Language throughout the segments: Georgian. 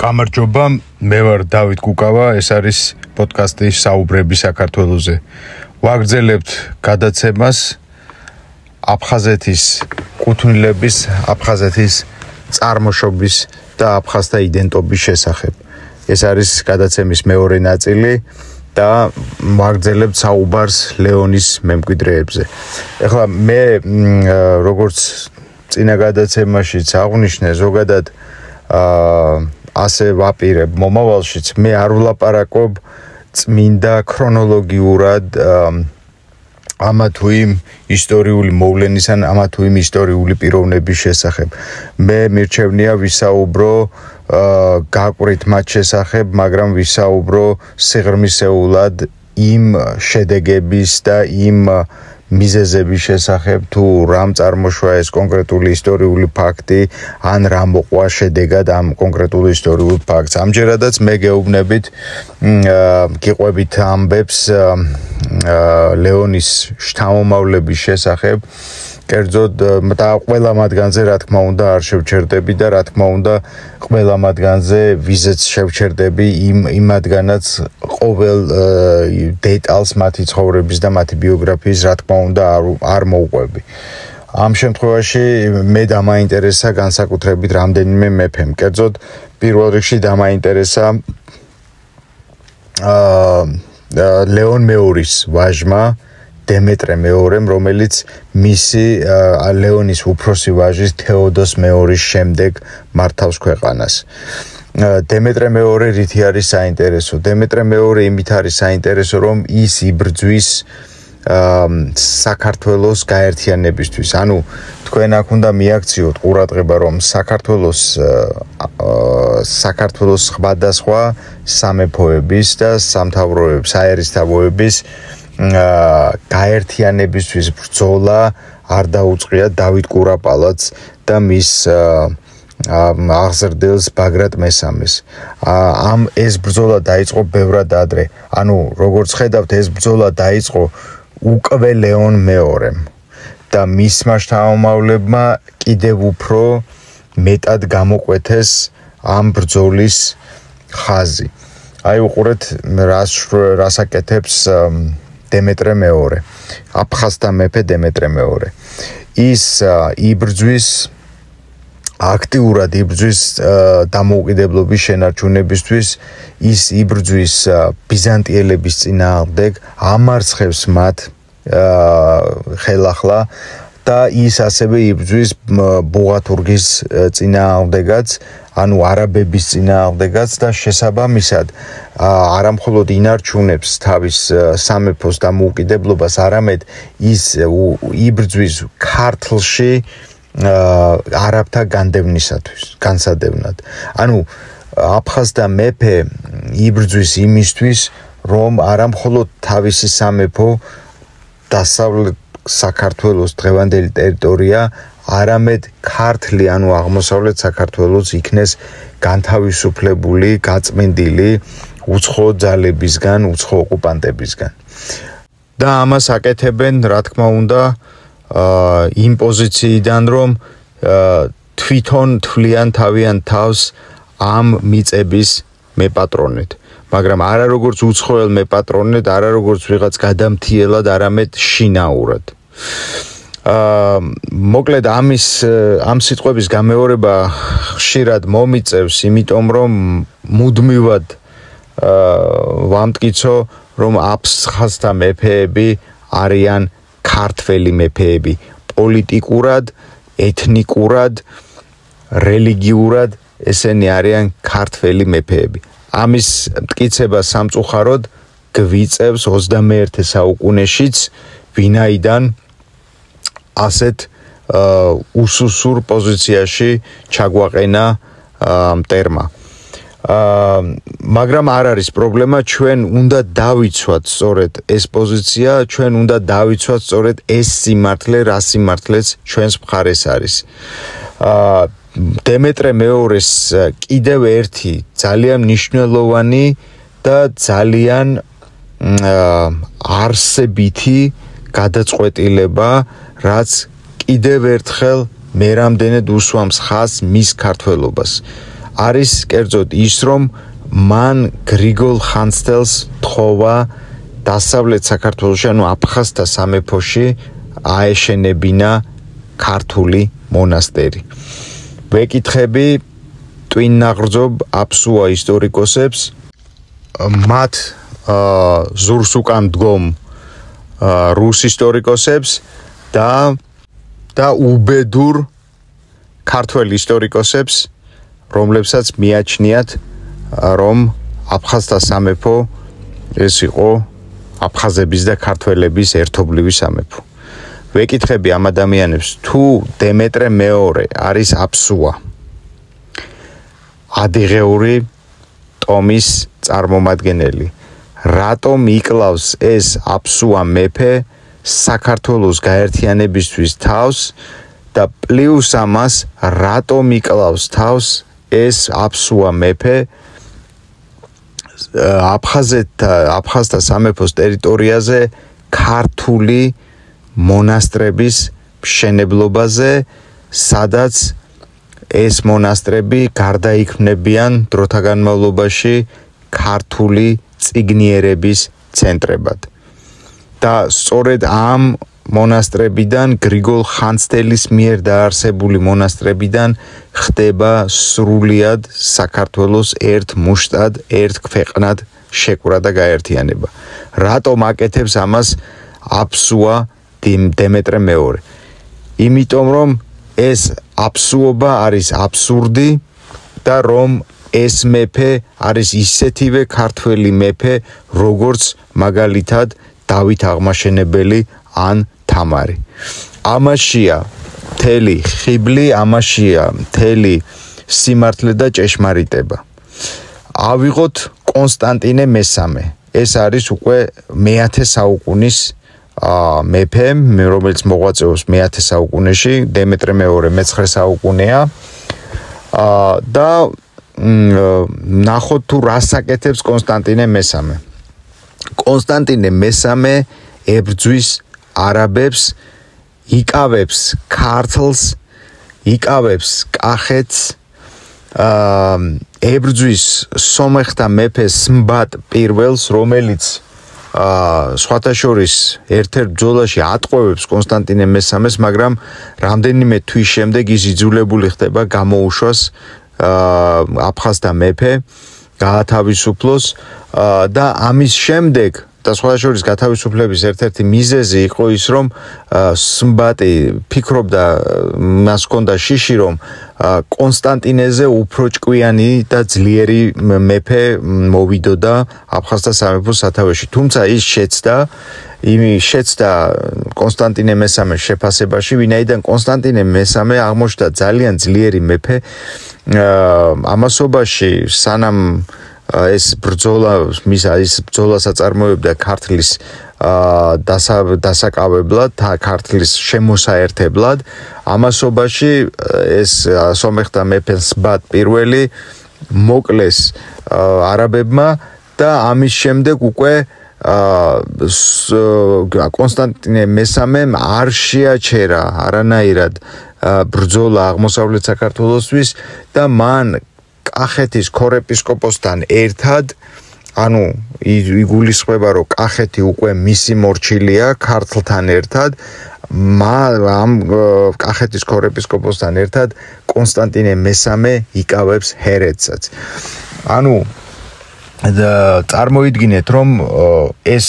გამარჯობა, მე ვარ დავით კუკავა, ეს არის პოდკასტი საუბრები საქართველოზე. ვაგრძელებთ გადაცემას აფხაზეთის კუთვნილების, აფხაზეთის წარმოშობის და აფხაზთა იდენტობის შესახებ. ეს არის გადაცემის მეორე ნაწილი და ვაგრძელებთ საუბარს ლეონის მემკვიდრეებზე. ეხლა მე როგორც წინა გადაცემაშიც აღვნიშნე, ზოგადად ასე ვაპირებ მომავალშიც მე არ ვლაპარაკობ წმინდა ქრონოლოგიურად ამა თუ იმ ისტორიული მოვლენის ან ამა თუ იმ ისტორიული პიროვნების შესახებ. მე მირჩევნია ვისაუბრო გაკვირით მათ შესახებ, მაგრამ ვისაუბრო სიღრმისეულად იმ შედეგების და იმ მიზეზების შესახებ, თუ რამ წარმოშვა ეს კონკრეტული ისტორიული ფაქტი, ან რა მოყვა შედეგად ამ კონკრეტულ ისტორიულ ფაქტს. ამჯერადაც მე გეუბნებით, გიყვებით ამბებს ლეონის შთამომავლების შესახებ, კერძოდ და ყველა მათგანზე რა თქმა უნდა არ შევჩერდები და რა თქმა უნდა ყველა მათგანზე ვიზეც შევჩერდები იმათგანაც ყოველ დეტალს მათი ცხოვრების და მათი ბიოგრაფიის რა თქმა უნდა არ მოვყვები. ამ შემთხვევაში მე დამაინტერესა განსაკუთრებით რამდენიმე მეფემ. კერძოდ პირველ რიგში დამაინტერესა ლეონ მეორის ვაჟმა დემეტრე მეორემ, რომელიც მისი ლეონის უფროსი ვაჟის თეოდოს მეორის შემდეგ მართავს ქვეყანას. დემეტრე მეორე რითი არის საინტერესო? დემეტრე მეორე იმით არის საინტერესო, რომ ის იბრძვის საქართველოს გაერთიანებისთვის. ანუ თქვენ აქ უნდა მიაქციოთ ყურადღება, რომ საქართველოს სხვადასხვა სამეფოების და სამთავროების, საერისთავოების გაერთიანებისთვის ბრძოლა არ დაუწყია დავით კურაპალატს და მის აღზრდილს ბაგრატ მესამეს. ეს ბრძოლა დაიწყო ბევრად ადრე. ანუ როგორც ხედავთ, ეს ბრძოლა დაიწყო უკვე ლეონ მეორემ და მისმა შთამომავლებმა კიდევ უფრო მეტად გამოკვეთეს ამ ბრძოლის ხაზი. აი უყურეთ რას აკეთებს დემეტრე მეორე, აფხაზთა მეფე დემეტრე მეორე. ის იბრძვის აქტიურად იბრძვის დამოუკიდებლობის შენარჩუნებისთვის, ის იბრძვის ბიზანტიელების წინააღმდეგ, ამარცხებს მათ ხელახლა და ის ასევე იბრძვის ბუღათურგის წინააღმდეგაც, ანუ არაბების წინააღმდეგაც და შესაბამისად არამხოლოდ ინარჩუნებს თავის სამეფოს დამოუკიდებლობას, არამედ ის იბრძვის ქართლში არაბთა განსადევნად. ანუ აფხაზთა მეფე იბრძვის იმისთვის, რომ არამხოლოდ თავისი სამეფო დასავლეთ საქართველოს დღევანდელი ტერიტორია, არამედ ქართლი, ანუ აღმოსავლეთ საქართველოს იქნეს განთავისუფლებული, გაწმენდილი უცხო ძალებისგან, უცხო ოკუპანტებისგან. და ამას აკეთებენ, რა თქმა უნდა, იმ პოზიციიდან, რომ თვითონ თვლიან თავიანთ თავს ამ მიწების მეპატრონედ. მაგრამ არა როგორც უცხოელ მეპატრონედ, არა როგორც ვიღაც გადამთიელად, არამედ შინაურად. მოკლედ ამ სიტყვების გამეორება ხშირად მომიწევს, იმიტომ რომ მუდმივად ვამტკიცო, რომ აფხაზთა მეფეები არიან ქართველი მეფეები, პოლიტიკურად, ეთნიკურად, რელიგიურად ესენი არიან ქართველი მეფეები. ამის მტკიცება სამწუხაროდ გვიწევს 21 საუკუნეშიც, ვინაიდან ასეთ უსუსურ პოზიციაში ჩაგვაყენა მტერმა. მაგრამ არ არის პრობლემა, ჩვენ უნდა დავიცვათ სწორედ ეს პოზიცია, ჩვენ უნდა დავიცვათ სწორედ ეს სიმართლე, რა სიმართლეც ჩვენს მხარეს არის. დემეტრე მეორეს კიდევ ერთი ძალიან მნიშვნელოვანი და ძალიან არსებითი გადაწყვეტილება, რაც კიდევ ერთხელ მე რამდენად უსვამს ხაზს მის ქართველობას. არის კერძოდ ის, რომ მან გრიგოლ ხანძთელს თხოვა დასავლეთ საქართველოში, ანუ აფხაზთა სამეფოში აეშენებინა ქართული მონასტერი. ვეკითხები ტვინაღრძობ აფსუა ისტორიკოსებს, მათ ზურს უკან დგომ რუს ისტორიკოსებს და უბედურ ქართველ ისტორიკოსებს, რომლებსაც მიაჩნიათ, რომ აფხაზთა სამეფო ეს იყო აფხაზების და ქართველების ერთობლივი სამეფო. ვეკითხები ამ ადამიანებს, თუ დემეტრე მეორე არის აფსუა, ადიღეური ტომის წარმომადგენელი, რატომ იკლავს ეს აფსუა მეფე საქართველოს გაერთიანებისთვის თავს და პლუს ამას რატომ იკლავს თავს ეს აფსუა მეფე აფხაზთა სამეფოს ტერიტორიაზე ქართული მონასტრების მშენებლობაზე, სადაც ეს მონასტრები გარდაიქმნებიან დროთა განმავლობაში ქართული წიგნიერების ცენტრებად. და სწორედ ამ მონასტრებიდან, გრიგოლ ხანძთელის მიერ დაარსებული მონასტრებიდან ხდება სრულიად საქართველოს ერთ მუშტად, ერთ ქვეყნად შეკვრა და გაერთიანება. რატომ აკეთებს ამას აფსუა დემეტრე მეორე? იმიტომ რომ ეს აფსუობა არის აბსურდი და რომ ეს მეფე არის ისეთივე ქართველი მეფე, როგორც მაგალითად დავით აღმაშენებელი ან თამარი. ამაშია მთელი ხიბლი, ამაშია მთელი სიმართლე და ჭეშმარიტება. ავიღოთ კონსტანტინე მესამე. ეს არის უკვე მე-10 საუკუნის მეფე, რომელიც მოღვაწეობს მე-10 საუკუნეში, დემეტრე მეორე მე-9 საუკუნეა. და ნახოთ თუ რას აკეთებს კონსტანტინე მესამე. კონსტანტინე მესამე ებრძვის არაბებს, იკავებს ქართლს, იკავებს კახეთს, ებრძვის სომეხთა მეფეს სმბატ პირველს, რომელიც სხვათა შორის ერთ-ერთ ბრძოლაში ატყვევებს კონსტანტინე მესამეს, მაგრამ რამდენიმე თვის შემდეგ ის იძულებული ხდება გამოუშვას აფხაზთა მეფე, გაათავისუფლოს და ამის შემდეგ და სხვათა შორის გათავისუფლების ერთ-ერთი მიზეზი იყო ის, რომ სმბატი ფიქრობდა, მას ჰქონდა შიში, რომ კონსტანტინეზე უფრო ჭკვიანი და ძლიერი მეფე მოვიდოდა აფხაზთა სამეფოს სათავეში. თუმცა ის შეცდა კონსტანტინე მესამეს შეფასებაში, ვინაიდან კონსტანტინე მესამე აღმოჩნდა ძალიან ძლიერი მეფე ამასობაში, სანამ ეს ბრძოლას აწარმოებდა ქართლის დასაკავებლად, ქართლის შემოსაერთებლად. ამასობაში ეს სომეხთა მეფე სმბატ პირველი მოკლეს არაბებმა და ამის შემდეგ უკვე კონსტანტინე მესამემ არ შეაჩერა არანაირად ბრძოლა აღმოსავლეთ საქართველოსთვის და მან კახეთის ქორეპისკოპოსთან ერთად, ანუ იგულისხმება, რომ კახეთი უკვე მისი მორჩილია ქართლთან ერთად, ამ კახეთის ქორეპისკოპოსთან ერთად კონსტანტინე მესამე იკავებს ჰერეთსაც. ანუ წარმოიდგინეთ, რომ ეს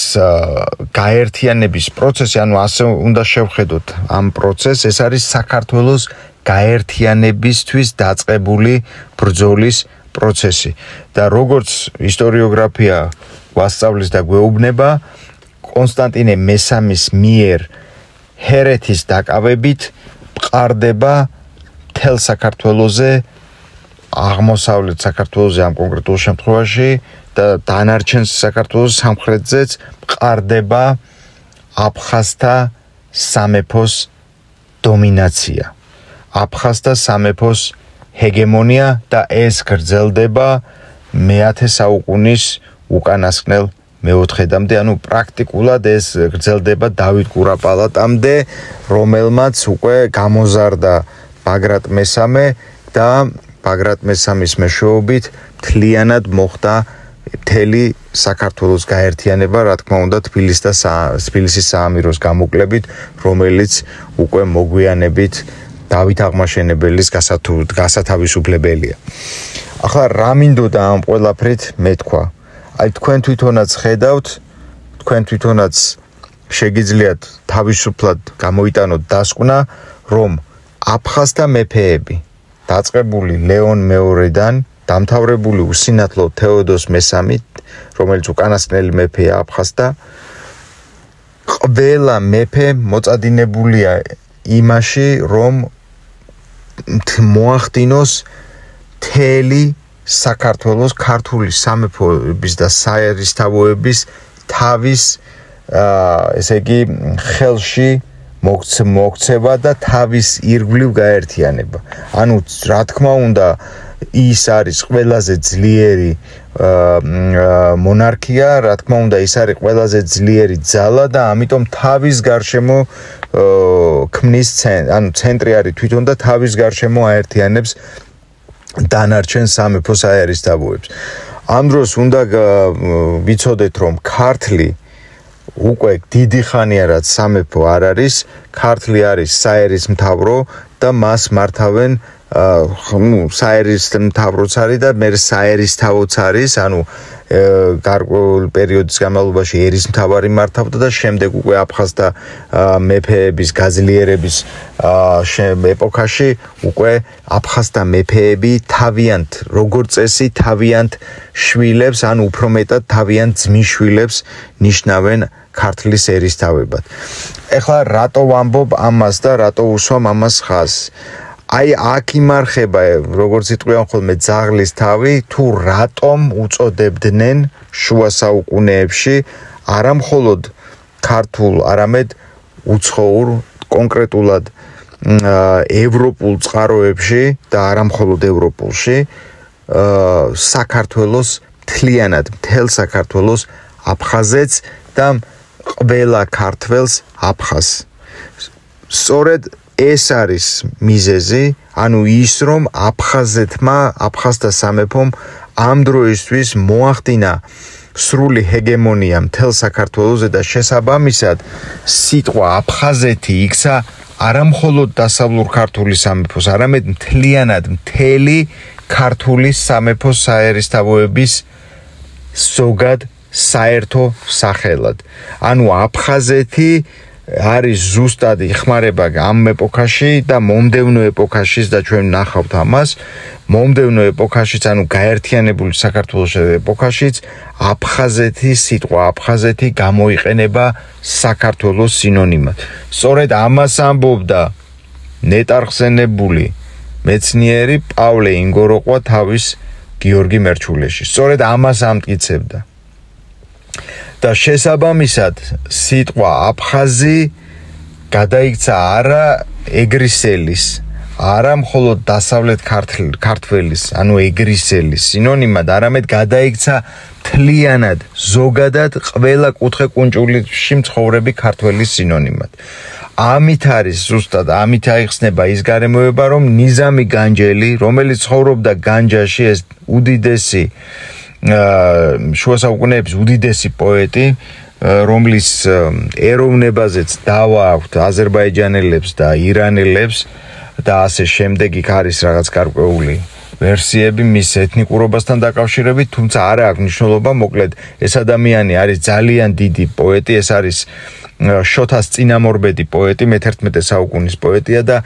გაერთიანების პროცესი, ანუ ასე უნდა შევხედოთ ამ პროცესს, ეს არის საქართველოს გაერთიანებისთვის დაწყებული ბრძოლის პროცესი. და როგორც ისტორიოგრაფია გვასწავლის და გვეუბნება, კონსტანტინე მესამის მიერ ჰერეთის დაკავებით მყარდება მთელ საქართველოზე, აღმოსავლეთ საქართველოზე ამ კონკრეტულ შემთხვევაში და დანარჩენ საქართველოს სამხრეთზეც მყარდება აფხაზთა სამეფოს დომინაცია, აფხაზთა სამეფოს ჰეგემონია და ეს გრძელდება მე-10 საუკუნის უკანასკნელ მე-4-მდე, ანუ პრაქტიკულად ეს გრძელდება დავით კურაპალატამდე, რომელმაც უკვე გამოზარდა ბაგრატ მესამე და ბაგრატ მესამის მეშვეობით მთლიანად მოხდა მთელი საქართველოს გაერთიანება, რა თქმა უნდა, თბილისის საამიროს გამოკლებით, რომელიც უკვე მოგვიანებით დავით აღმაშენებელის გასათავისუფლებელია. ახლა რა მინდოდა ამ ყველაფრით მეთქვა? აი თქვენ თვითონაც ხედავთ, თქვენ თვითონაც შეგიძლიათ თავისუფლად გამოიტანოთ დასკვნა, რომ აფხაზთა მეფეები დაწყებული ლეონ მეორედან დამთავრებული უსინათლო თეოდოს მესამით, რომელიც უკანასკნელი მეფეა აფხაზთა, ყველა მეფე მოწადინებულია იმაში, რომ მოახდინოს მთელი საქართველოს ქართული სამეფოების და საერისთავოების თავის ესე იგი ხელში მოქცევა და თავის ირგვლივ გაერთიანება. ანუ რა თქმა უნდა ის არის ყველაზე ძლიერი მონარქია, რა თქმა უნდა ის არის ყველაზე ძლიერი ძალა და ამიტომ თავის გარშემო ქმნის ანუ ცენტრი არის თვითონ და თავის გარშემო აერთიანებს დანარჩენ სამეფო საერისთავოებს. ამ დროს უნდა ვიცოდეთ, რომ ქართლი უკვე დიდი ხანია რაც სამეფო არ არის, ქართლი არის საერისმთავრო და მას მართავენ საერისმთავროც არის და მე საერისთავოც არის, ანუ გარკვეულ პერიოდის განმავლობაში ერისმთავარი მართავდა და შემდეგ უკვე აფხაზთა მეფეების გაძლიერების ეპოქაში უკვე აფხაზთა მეფეები თავიანთ როგორც წესი თავიანთ შვილებს, ანუ უფრო მეტად თავიანთ ძმისშვილებს ნიშნავენ ქართლის ერისთავებად. ეხლა რატო ვამბობ ამას და რატო უსვამ ამას ხაზს? აი აქ იმარხება, როგორც იტყვიან ხოლმე ძაღლის თავი, თუ რატომ უწოდებდნენ შუა საუკუნეებში არა მხოლოდ ქართულ, არამედ უცხოურ, კონკრეტულად ევროპულ წყაროებში და არა მხოლოდ ევროპულში საქართველოს მთლიანად, მთელ საქართველოს აფხაზეთს და ყველა ქართველს აფხაზს. სწორედ ეს არის მიზეზი, ანუ ის რომ აფხაზთა სამეფომ ამ დროისთვის მოახდინა სრული ჰეგემონია მთელ საქართველოზე და შესაბამისად სიტყვა აფხაზეთი იქცა არა მხოლოდ დასავლურ ქართული სამეფოს, არამედ მთლიანად მთელი ქართული სამეფოს საერისთავოების ზოგად საერთო სახელად. ანუ აფხაზეთი არის ზუსტად იხმარება ამ ეპოქაში და მომდევნო ეპოქაშიც და ჩვენ ნახავთ ამას, მომდევნო ეპოქაშიც, ანუ გაერთიანებული საქართველოს ეპოქაშიც სიტყვა აფხაზეთი გამოიყენება საქართველოს სინონიმად. სწორედ ამას ამბობდა ნეტარხსენებული მეცნიერი პავლე ინგოროყვა თავის გიორგი მერჩულეში. სწორედ ამას ამტკიცებდა. და შესაბამისად სიტყვა აფხაზი გადაიქცა არა ეგრისელის, არა მხოლოდ დასავლეთ ქართველის, ანუ ეგრისელის სინონიმად, არამედ გადაიქცა მთლიანად, ზოგადად ყველა კუთხე-კუნჭულში მცხოვრები ქართველის სინონიმად. ამით არის ზუსტად, ამით აიხსნება ის გარემოება, რომ ნიზამი განჯელი, რომელიც ცხოვრობდა განჯაში, ეს უდიდესი შუა საუკუნეების უდიდესი პოეტი, რომლის ეროვნებაზეც დავა აქვთ აზერბაიჯანელებს და ირანელებს და ასე შემდეგ იქ არის რაღაც გარკვეული ვერსიები მის ეთნიკურობასთან დაკავშირებით, თუმცა არა აქვს მნიშვნელობა, მოკლედ ეს ადამიანი არის ძალიან დიდი პოეტი, ეს არის შოთას წინამორბედი პოეტი, მე-11 საუკუნის პოეტია და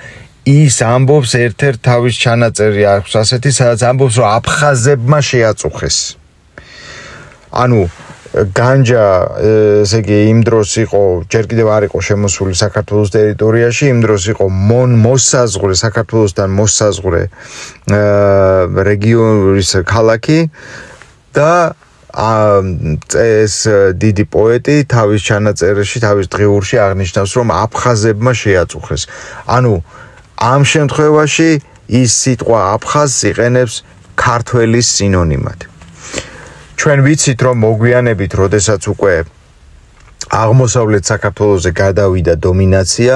ის ამბობს ერთ-ერთ თავის ჩანაწერი აქვს ასეთი, სადაც ამბობს, რომ აფხაზებმა შეაწუხეს. ანუ განჯა, ესე იგი, იმ დროს იყო, ჯერ კიდევ არ იყო შემოსული საქართველოს ტერიტორიაში, იმ დროს იყო მოსაზღვრე, საქართველოსთან მოსაზღვრე რეგიონის ქალაქი და ეს დიდი პოეტი თავის ჩანაწერში, თავის დღიურში აღნიშნავს, რომ აფხაზებმა შეაწუხეს. ანუ ამ შემთხვევაში ის სიტყვა აფხაზს იყენებს ქართველის სინონიმად. ჩვენ ვიცით, რომ მოგვიანებით, როდესაც უკვე აღმოსავლეთ საქართველოზე გადავიდა დომინაცია,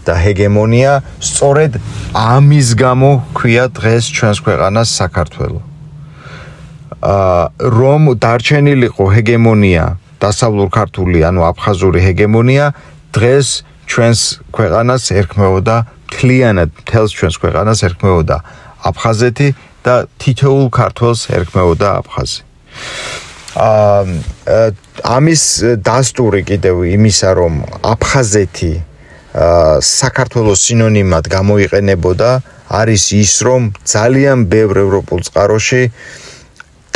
და ჰეგემონია, სწორედ ამის გამო ქვია დღეს ჩვენს ქვეყანას საქართველო. რომ დარჩენილიყო ჰეგემონია, დასავლურ ქართული, ანუ აფხაზური ჰეგემონია, დღეს ჩვენს ქვეყანას ერქმეოდა მთლიანად, მთელს ჩვენს ქვეყანას ერქმეოდა აფხაზეთი და თითოეულ ქართველს ერქმეოდა აფხაზი. ამის დასტური კიდევ იმისა, რომ აფხაზეთი საქართველოს სინონიმად გამოიყენებოდა, არის ის, რომ ძალიან ბევრ ევროპულ წყაროში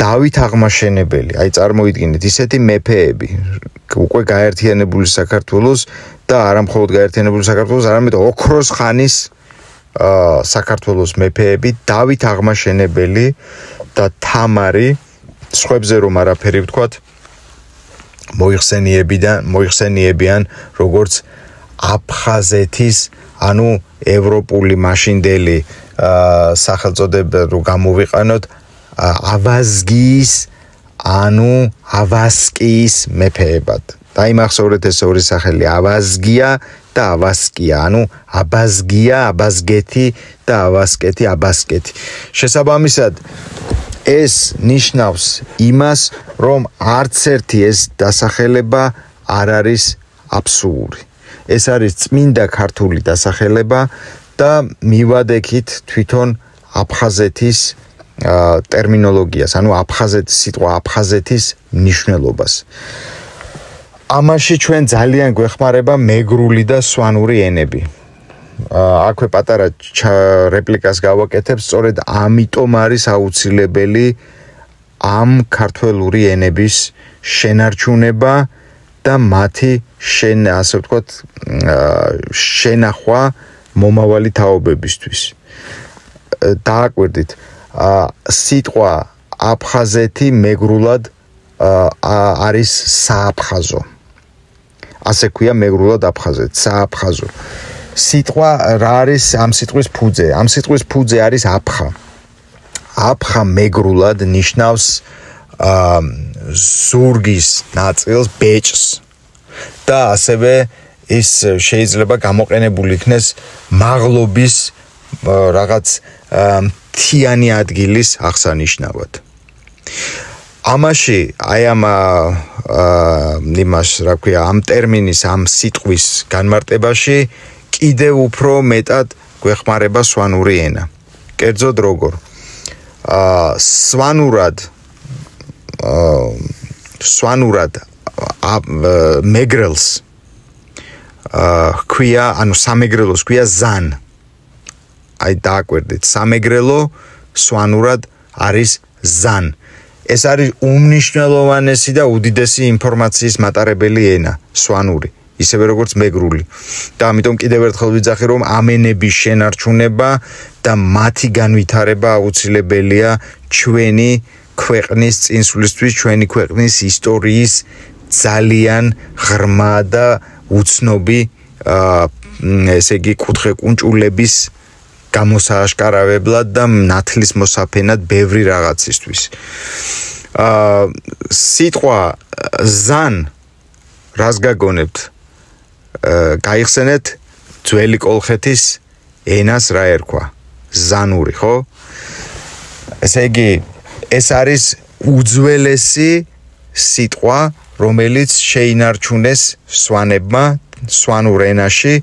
დავით აღმაშენებელი, აი წარმოიდგინეთ ისეთი მეფეები, უკვე გაერთიანებული საქართველოს და არა მხოლოდ გაერთიანებული საქართველოს, არამედ ოქროს ხანის საქართველოს მეფეები, დავით აღმაშენებელი და თამარი, სხვებზე რომ არაფერი ვთქვათ, მოიხსენიებიან როგორც აფხაზეთის, ანუ ევროპული მაშინდელი სახელწოდება რო გამოვიყანოთ, ავაზგიის, ანუ ავასკიის მეფეებად. დაიმახსოვრეთ ეს ორი სახელი, ავაზგია და ავასკია, ანუ აბაზგია, აბაზგეთი და ავასკეთი, აბასკეთი. შესაბამისად, ეს ნიშნავს იმას, რომ არც ერთი ეს დასახელება არ არის აბსურდი. ეს არის წმინდა ქართული დასახელება და მივადექით თვითონ აფხაზეთის ტერმინოლოგიას, ანუ სიტყვა აფხაზეთის მნიშვნელობას. ამაში ჩვენ ძალიან გვეხმარება მეგრული და სვანური ენები. აქვე პატარა რეპლიკას გავაკეთებ, სწორედ ამიტომ არის აუცილებელი ამ ქართველური ენების შენარჩუნება და მათი ასე ვთქვათ, შენახვა მომავალი თაობებისთვის. დააკვირდით, სიტყვა აფხაზეთი მეგრულად არის სააფხაზო. ასე ქვია მეგრულად აფხაზეთი, სააფხაზო. სიტყვა რა არის ამ სიტყვის ფუძე? ამ სიტყვის ფუძე არის აფხა. აფხა მეგრულად ნიშნავს ზურგის ნაწილს, ბეჭს და ასევე ის შეიძლება გამოყენებული იქნეს მაღლობის რაღაც მთიანი ადგილის აღსანიშნავად. ამაში აი ამ ტერმინის, ამ სიტყვის განმარტებაში კიდევ უფრო მეტად გვეხმარება სვანური ენა. კერძოდ როგორ? სვანურად მეგრელს ქვია, ანუ სამეგრელოს ქვია ზან. აი დააკვირდით, სამეგრელო სვანურად არის ზან. ეს არის უმნიშვნელოვანესი და უდიდესი ინფორმაციის მატარებელი ენა, სვანური, ისევე როგორც მეგრული. და ამიტომ კიდევ ერთხელ ვიძახი, რომ ამ ენების შენარჩუნება და მათი განვითარება აუცილებელია ჩვენი ქვეყნის წინსვლისთვის, ჩვენი ქვეყნის ისტორიის ძალიან ღრმა და უცნობი, ესე იგი, კუთხე-კუნჭულების გამოსააშკარავებლად და ნათლის მოსაფენად ბევრი რაღაცისთვის. სიტყვა ზან, რას გაგონებთ? გაიხსენეთ ძველი კოლხეთის ენას რა ერქვა? ზანური, ხო? ესე იგი, ეს არის უძველესი სიტყვა, რომელიც შეინარჩუნეს სვანებმა სვანურ ენაში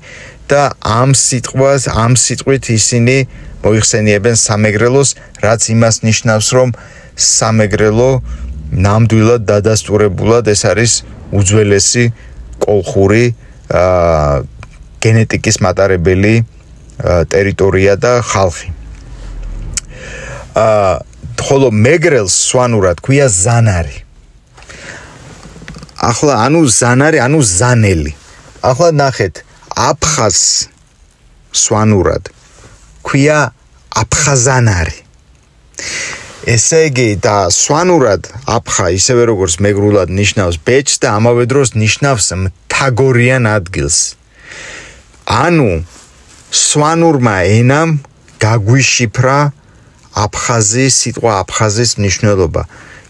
და ამ სიტყვით ისინი მოიხსენიებენ სამეგრელოს, რაც იმას ნიშნავს, რომ სამეგრელო ნამდვილად დადასტურებულად ეს არის უძველესი კოლხური გენეტიკის მატარებელი ტერიტორია და ხალხი. ხოლო მეგრელს სვანურად ქვია ზანარი. ახლა ანუ ზანარი, ანუ ზანელი. ახლა ნახეთ, აფხაზს სვანურად ქვია აფხაზანარი. ესე იგი და სვანურად აფხა ისევე როგორც მეგრულად ნიშნავს ბეჭს და ამავე დროს ნიშნავს მთაგორიან ადგილს. ანუ სვანურმა ენამ გაგვიშიფრა სიტყვა აფხაზის მნიშვნელობა.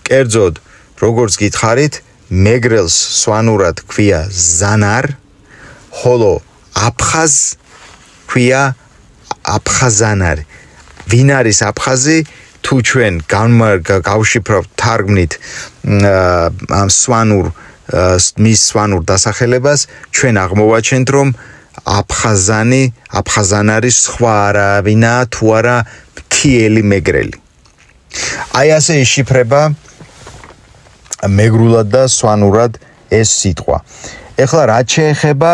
კერძოდ, როგორც გითხარით, მეგრელს სვანურად ქვია ზანარ, ხოლო აფხაზ ქვია აფხაზანარი. ვინ არის აფხაზი? თუ ჩვენ გავშიფრებთ თარგმნით ამ მის სვანურ დასახელებას, ჩვენ აღმოვაჩენთ, რომ აფხაზანარი სხვა არავინაა, თუ არა მთიელი მეგრელი. აი ასე იშიფრება მეგრულად და სვანურად ეს სიტყვა. ეხლა რაც შეეხება,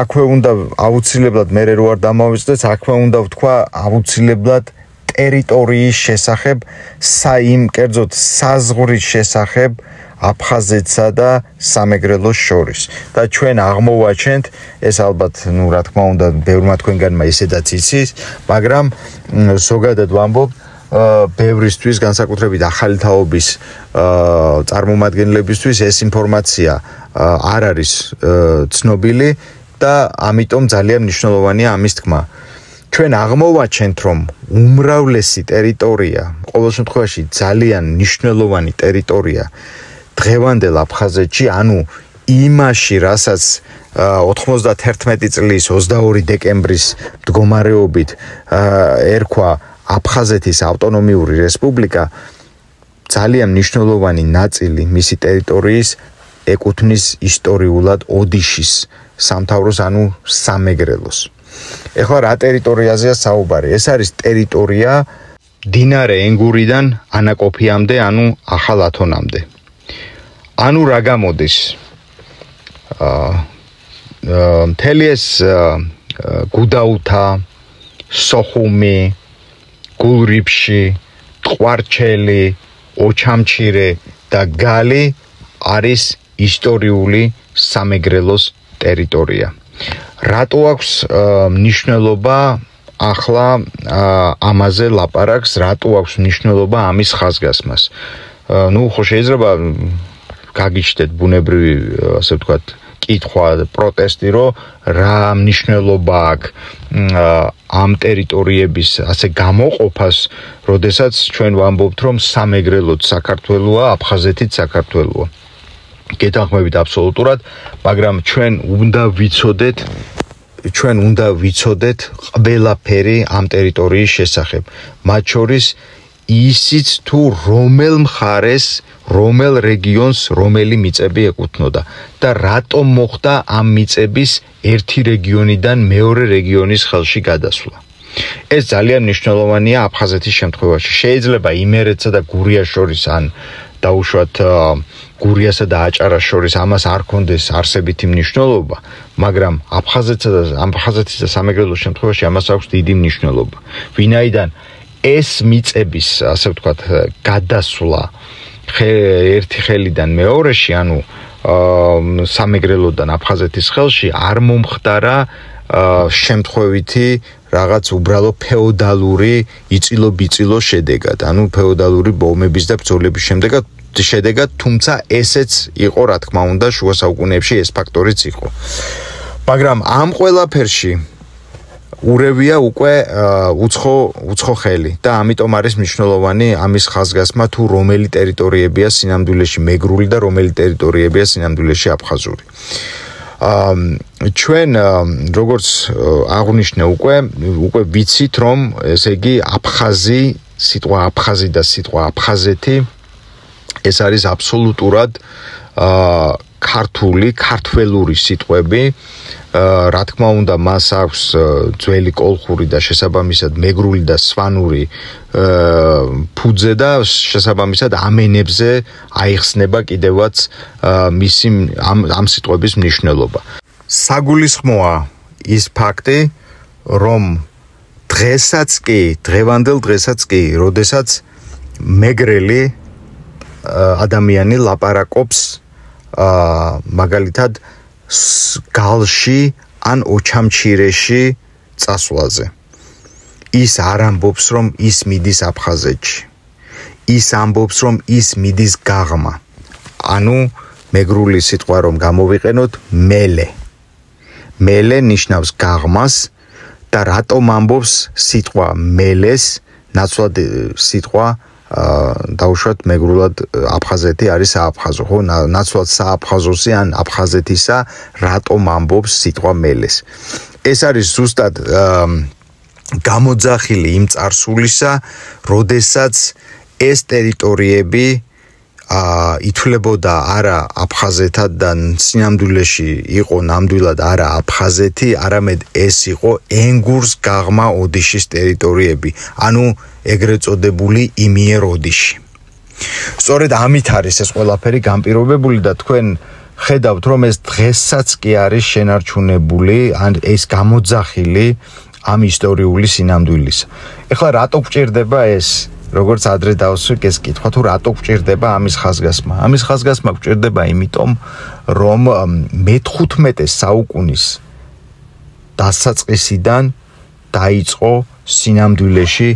აქვე უნდა აუცილებლად მე რო არ დამავიწყდეს, აქვე უნდა ვთქვა აუცილებლად ტერიტორიის შესახებ, კერძოდ საზღვრის შესახებ აფხაზეთსა და სამეგრელოს შორის. და ჩვენ აღმოვაჩენთ, ეს ალბათ, რა თქმა უნდა, ბევრმა თქვენგანმა ისედაც იცის, მაგრამ ზოგადად ვამბობ, ბევრისთვის, განსაკუთრებით ახალი თაობის წარმომადგენლებისთვის ეს ინფორმაცია არ არის ცნობილი და ამიტომ ძალიან მნიშვნელოვანია ამის თქმა. ჩვენ აღმოვაჩენთ, რომ უმრავლესი ტერიტორია, ყოველ შემთხვევაში ძალიან მნიშვნელოვანი ტერიტორია დღევანდელ აფხაზეთში, ანუ იმაში, რასაც 91 წლის 22 დეკემბრის მდგომარეობით ერქვა აფხაზეთის ავტონომიური რესპუბლიკა, ძალიან მნიშვნელოვანი ნაწილი მისი ტერიტორიის ეკუთვნის ისტორიულად ოდიშის სამთავროს, ანუ სამეგრელოს. ეხლა რა ტერიტორიაზეა საუბარი? ეს არის ტერიტორია მდინარე ენგურიდან ანაკოფიამდე, ანუ ახალ ათონამდე. ანუ რა გამოდის? მთელი ეს გუდაუთა, სოხუმი, გულრიფში, ტყვარჩელი, ოჩამჩირე და გალი არის ისტორიული სამეგრელოს ტერიტორია. რატო აქვს მნიშვნელობა ახლა ამაზე ლაპარაკს, რატო აქვს მნიშვნელობა ამის ხაზგასმას? ხო შეიძლება გაგიჩნდეთ ბუნებრივი, ასე ვთქვათ, კითხვა, პროტესტი, რომ რა მნიშვნელობა აქვს ამ ტერიტორიების ასე გამოყოფას, როდესაც ჩვენ ვამბობთ, რომ სამეგრელოც საქართველოა, აფხაზეთიც საქართველოა. გეთანხმებით აბსოლუტურად, მაგრამ ჩვენ უნდა ვიცოდეთ ყველაფერი ამ ტერიტორიის შესახებ. მათ შორის ისიც თუ რომელ მხარეს, რომელ რეგიონს, რომელი მიწები ეკუთვნოდა და რატომ მოხდა ამ მიწების ერთი რეგიონიდან მეორე რეგიონის ხელში გადასვლა. ეს ძალიან მნიშვნელოვანია აფხაზეთის შემთხვევაში. შეიძლება იმერეთსა და გურიას შორის, ან დაუშვათ გურიასა და აჭარას შორის ამას არ ქონდეს არსებითი მნიშვნელობა, მაგრამ აფხაზეთის და სამეგრელოს შემთხვევაში ამას აქვს დიდი მნიშვნელობა. ვინაიდან ეს მიწების, ასე ვთქვათ, გადასვლა ერთი ხელიდან მეორეში, ანუ სამეგრელოდან აფხაზეთის ხელში არ მომხდარა შემთხვევითი რაღაც უბრალო ფეოდალური იწილო-ბიწილო შედეგად, ანუ ფეოდალური ბომების და ბრძოლების შედეგად, თუმცა ესეც იყო, რა თქმა უნდა, შუა საუკუნეებში ეს ფაქტორიც იყო. მაგრამ ამ ყველაფერში ურევია უკვე უცხო ხელი და ამიტომ არის მნიშვნელოვანი ამის ხაზგასმა, თუ რომელი ტერიტორიებია სინამდვილეში მეგრული და რომელი ტერიტორიებია სინამდვილეში აფხაზური. ჩვენ როგორც აღვნიშნე უკვე ვიცით, რომ ესე იგი სიტყვა აფხაზი და სიტყვა აფხაზეთი ეს არის აბსოლუტურად ქართველური სიტყვები. რა თქმა უნდა, მას აქვს ძველი კოლხური და შესაბამისად მეგრული და სვანური ფუძე და შესაბამისად ამ ენებზე აიხსნება კიდევაც მისი ამ სიტყვების მნიშვნელობა. საგულისხმოა ის ფაქტი, რომ დღევანდელ დღესაც კი, როდესაც მეგრელი ადამიანი ლაპარაკობს მაგალითად გალში ან ოჩამჩირეში წასვლაზე. ის არ ამბობს, რომ ის მიდის აფხაზეთში. ის ამბობს, რომ ის მიდის გაღმა. ანუ მეგრული სიტყვა რომ გამოვიყენოთ, მელე. მელე ნიშნავს გაღმას და რატომ ამბობს სიტყვა მელეს, ნაცვლად სიტყვა დაუშვათ მეგრულად აფხაზეთი არის სააფხაზო, ხო? ნაცვლად სააფხაზოსი ან აფხაზეთისა რატომ ამბობს სიტყვა მელეს. ეს არის ზუსტად გამოძახილი იმ წარსულისა, როდესაც ეს ტერიტორიები ითვლებოდა არა აფხაზეთად და სინამდვილეში იყო ნამდვილად არა აფხაზეთი, არამედ ეს იყო ენგურს გაღმა ოდიშის ტერიტორიები, ანუ ეგრეთ წოდებული იმიერ ოდიში. სწორედ ამით არის ეს ყველაფერი განპირობებული და თქვენ ხედავთ, რომ ეს დღესაც კი არის შენარჩუნებული, ან ეს გამოძახილი ამ ისტორიული სინამდვილისა. ეხლა რატო გვჭირდება ეს? როგორც ადრე დავსვიქ ეს კითხვა, თუ რატო გვჭირდება ამის ხაზგასმა? ამის ხაზგასმა გვჭირდება იმიტომ, რომ მე-15 საუკუნის დასაწყისიდან დაიწყო სინამდვილეში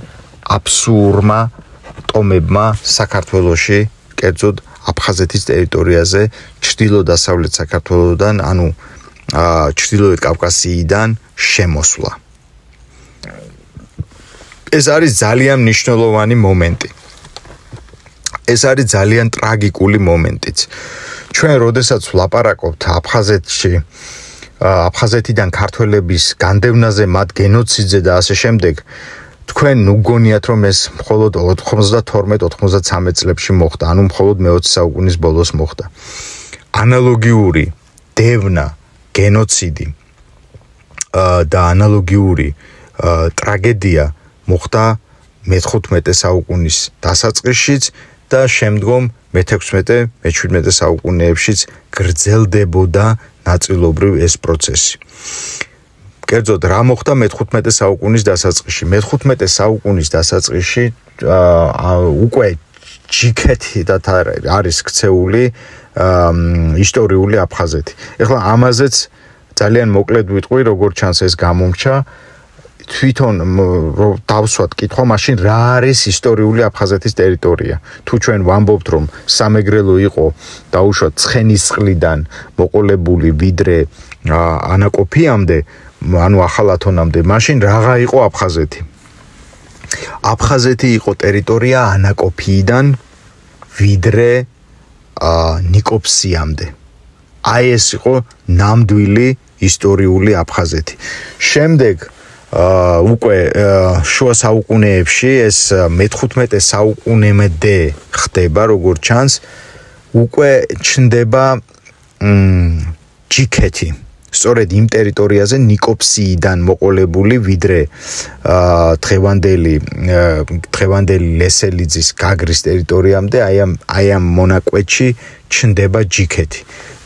აბსურდმა ტომებმა საქართველოში, კერძოდ აფხაზეთის ტერიტორიაზე, ჩრდილო-დასავლეთ საქართველოსდან, ანუ ჩრდილოეთ კავკასიიდან შემოსვლა. ეს არის ძალიან მნიშვნელოვანი მომენტი. ეს არის ძალიან ტრაგიკული მომენტიც. ჩვენ როდესაც ვლაპარაკობთ აფხაზეთიდან ქართველების განდევნაზე, მათ გენოციდზე და ასე შემდეგ, თქვენ უგონიათ, რომ ეს მხოლოდ 92-93 წლებში მოხდა, ანუ მხოლოდ მე-20 საუკუნის ბოლოს მოხდა. ანალოგიური დევნა, გენოციდი და ანალოგიური ტრაგედია მოხდა მე-15 საუკუნის დასაწყისშიც და შემდგომ მე-16, მე-17 საუკუნეებშიც გრძელდებოდა ნაწილობრივ ეს პროცესი. კერძოდ, რა მოხდა მე-15 საუკუნის დასაწყისში? მე-15 საუკუნის დასაწყისში უკვე ჯიქეთიდან არის ქცეული ისტორიული აფხაზეთი. ეხლა ამაზეც ძალიან მოკლედ ვიტყვი, როგორც ჩანს ეს გამომჩა. თვითონ დავსვათ კითხვა, მაშინ რა არის ისტორიული აფხაზეთის ტერიტორია? თუ ჩვენ ვამბობთ, რომ სამეგრელო იყო დაუშვათ ცხენისწყლიდან მოყოლებული ვიდრე ანაკოფიამდე, ანუ ახალ ათონამდე, მაშინ რაღა იყო აფხაზეთი? აფხაზეთი იყო ტერიტორია ანაკოფიიდან ვიდრე ნიკოფსიამდე. აი ეს იყო ნამდვილი ისტორიული აფხაზეთი. შემდეგ უკვე შუა საუკუნეებში ეს მე-15 საუკუნემდე ხდება, როგორც ჩანს, უკვე ჩნდება ჯიქეთი. სწორედ იმ ტერიტორიაზე ნიკოფსიიდან მოყოლებული ვიდრე დღევანდელი ლესელიძის გაგრის ტერიტორიამდე, აი ამ მონაკვეთში ჩნდება ჯიქეთი.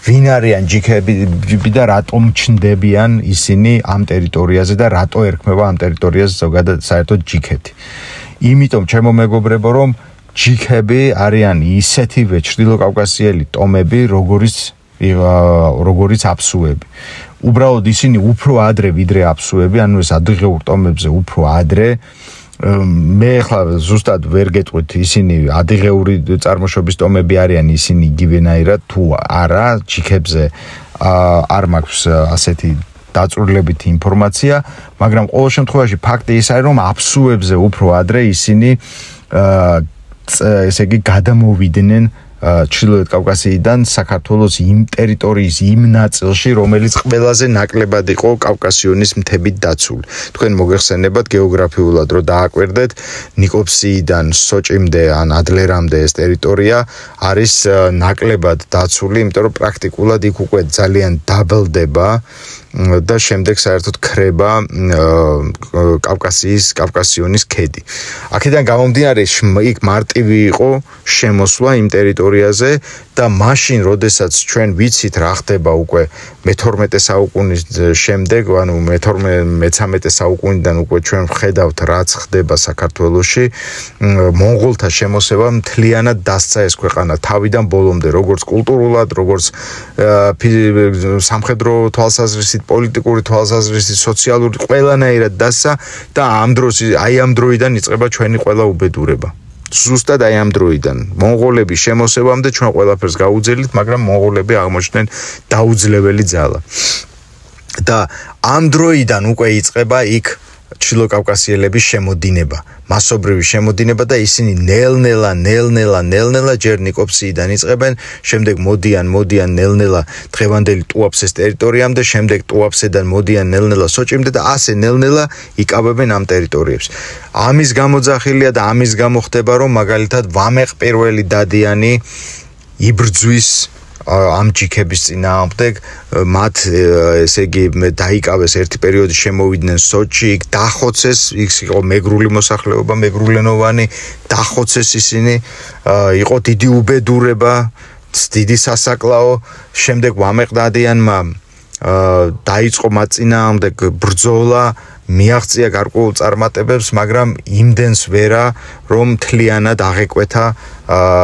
ვინ არიან ჯიქები და რატომ ჩნდებიან ისინი ამ ტერიტორიაზე და რატო ერქმევა ამ ტერიტორიაზე ზოგადად საერთოდ ჯიქეთი? იმიტომ, ჩემო მეგობრებო, რომ ჯიქები არიან ისეთივე ჩრდილოკავკასიელი ტომები, როგორიც აფსუები. უბრალოდ ისინი უფრო ადრე ვიდრე აფსუები, ანუ ეს ადრღეურ ტომებზე უფრო ადრე. მე ახლა ზუსტად ვერ გეტყვით, ისინი ადრღეური წარმოშობის ტომები არიან, ისინი იგივენაირად თუ არა, ჯიქებზე არ მაქვს ასეთი დაწვრილებითი ინფორმაცია, მაგრამ ყოველ შემთხვევაში ფაქტი ის არის, რომ აფსუებზე უფრო ადრე ისინი ესე იგი გადამოვიდნენ ჩრდილოეთ კავკასიიდან საქართველოს იმ ტერიტორიის იმ ნაწილში, რომელიც ყველაზე ნაკლებად იყო კავკასიონის მთებით დაცული. თქვენ მოგეხსენებათ გეოგრაფიულად, რომ დააკვირდეთ, ნიკოფსიიდან სოჭიმდე ან ადლერამდე ეს ტერიტორია არის ნაკლებად დაცული, იმიტომ რომ პრაქტიკულად იქ უკვე ძალიან დაბლდება და შემდეგ საერთოდ ქრება კავკასიონის ქედი. აქედან გამომდინარე, იქ მარტივი იყო შემოსვლა იმ ტერიტორიაზე და მაშინ, როდესაც ჩვენ ვიცით რა ხდება უკვე მე-12 საუკუნის შემდეგ, ანუ მე-13 საუკუნიდან უკვე ჩვენ ვხედავთ რაც ხდება საქართველოში, მონღოლთა შემოსევამ მთლიანად დასცა ეს ქვეყანა თავიდან ბოლომდე, როგორც კულტურულად, როგორც სამხედრო თვალსაზრისით, პოლიტიკური თვალსაზრისით, სოციალური ყველანაირად დასცა და ამ დროიდან იწყება ჩვენი ყველა უბედურება. ზუსტად აი ამ დროიდან მონღოლების შემოსევამდე ჩვენ ყველაფერს გაუძელით, მაგრამ მონღოლები აღმოჩნდნენ დაუძლეველი ძალა. და ამ დროიდან უკვე იწყება იქ ჩრდილოკავკასიელების შემოდინება, მასობრივი შემოდინება და ისინი ნელ-ნელა ჯერ ნიკოპსიიდან იწყებენ, შემდეგ მოდიან ნელ-ნელა დღევანდელი ტუაფსეს ტერიტორიამდე, შემდეგ ტუაფსედან მოდიან ნელ-ნელა სოჭიმდე და ასე ნელ-ნელა იკავებენ ამ ტერიტორიებს. ამის გამოძახილია და ამის გამო ხდება, რომ მაგალითად ვამეყ პირველი დადიანი იბრძვის ამ ჯიქების წინააღმდეგ, მათ ესე იგი დაიკავეს ერთი პერიოდი, შემოვიდნენ სოჭი, იქ დახოცეს, ის იყო მეგრული მოსახლეობა, მეგრულენოვანი, დახოცეს ისინი, იყო დიდი უბედურება, დიდი სასაკლაო, შემდეგ ვამეყ დადიანმა დაიწყო მათ წინააღმდეგ ბრძოლა, მიაღწია გარკვეულ წარმატებებს, მაგრამ იმდენს ვერა, რომ მთლიანად აღეკვეთა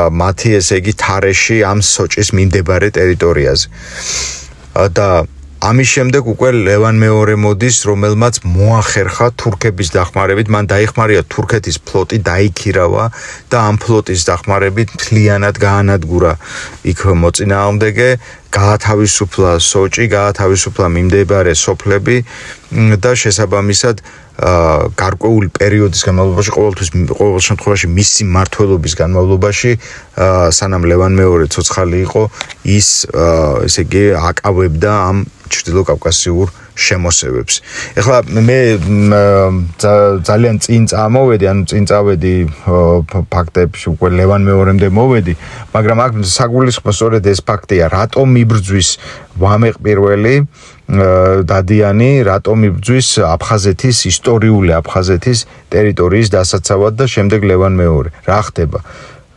მათი ესე იგი თარეში ამ სოჭის მიმდებარე ტერიტორიაზე. და ამის შემდეგ უკვე ლევან მეორე მოდის, რომელმაც მოახერხა თურქების დახმარებით, მან დაიხმარია თურქეთის ფლოტი, დაიქირავა და ამ ფლოტის დახმარებით მთლიანად გაანადგურა იქ მოწინააღმდეგე, გაათავისუფლა სოჭი, გაათავისუფლა მიმდებარე სოფლები და შესაბამისად გარკვეული პერიოდის განმავლობაში, ყოველ შემთხვევაში მისი მმართველობის განმავლობაში, სანამ ლევან მეორე ცოცხალი იყო, ის ესე იგი აკავებდა ამ ჩრდილოკავკასიურ შემოსევებს. ეხლა მე ძალიან წინ წავედი ფაქტებში, უკვე ლევან მეორემდე მოვედი, მაგრამ აქ საგულისხმო სწორედ ეს ფაქტია, რატომ იბრძვის ვამეყ პირველი დადიანი, რატომ იბრძვის ისტორიული აფხაზეთის ტერიტორიის დასაცავად და შემდეგ ლევან მეორე. რა ხდება?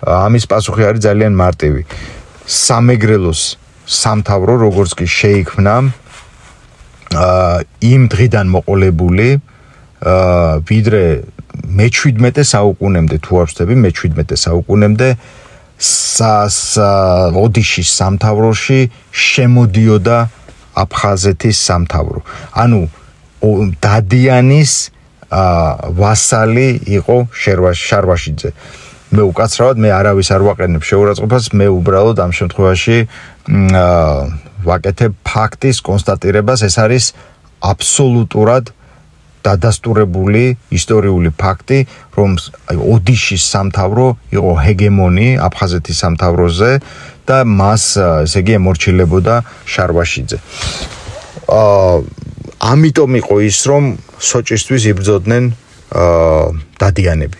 ამის პასუხი არის ძალიან მარტივი. სამეგრელოს სამთავრო, როგორც კი შეიქმნა, იმ დღიდან მოყოლებული, ვიდრე მე-17 საუკუნემდე თუ არ ვცდები, მე-17 საუკუნემდე ოდიშის სამთავროში შემოდიოდა აფხაზეთის სამთავრო. ანუ დადიანის ვასალი იყო შარვაშიძე. მე უკაცრავად მე არავის არ ვაყენებ შეურაცხყოფას, მე უბრალოდ ამ შემთხვევაში ვაკეთებ ფაქტის კონსტატირებას, ეს არის აბსოლუტურად დადასტურებული ისტორიული ფაქტი, რომ ოდიშის სამთავრო იყო ჰეგემონი აფხაზეთის სამთავროზე და მას ესე იგი ემორჩილებოდა შარვაშიძე. ამიტომ იყო ის, რომ სოჭისთვის იბრძოდნენ დადიანები.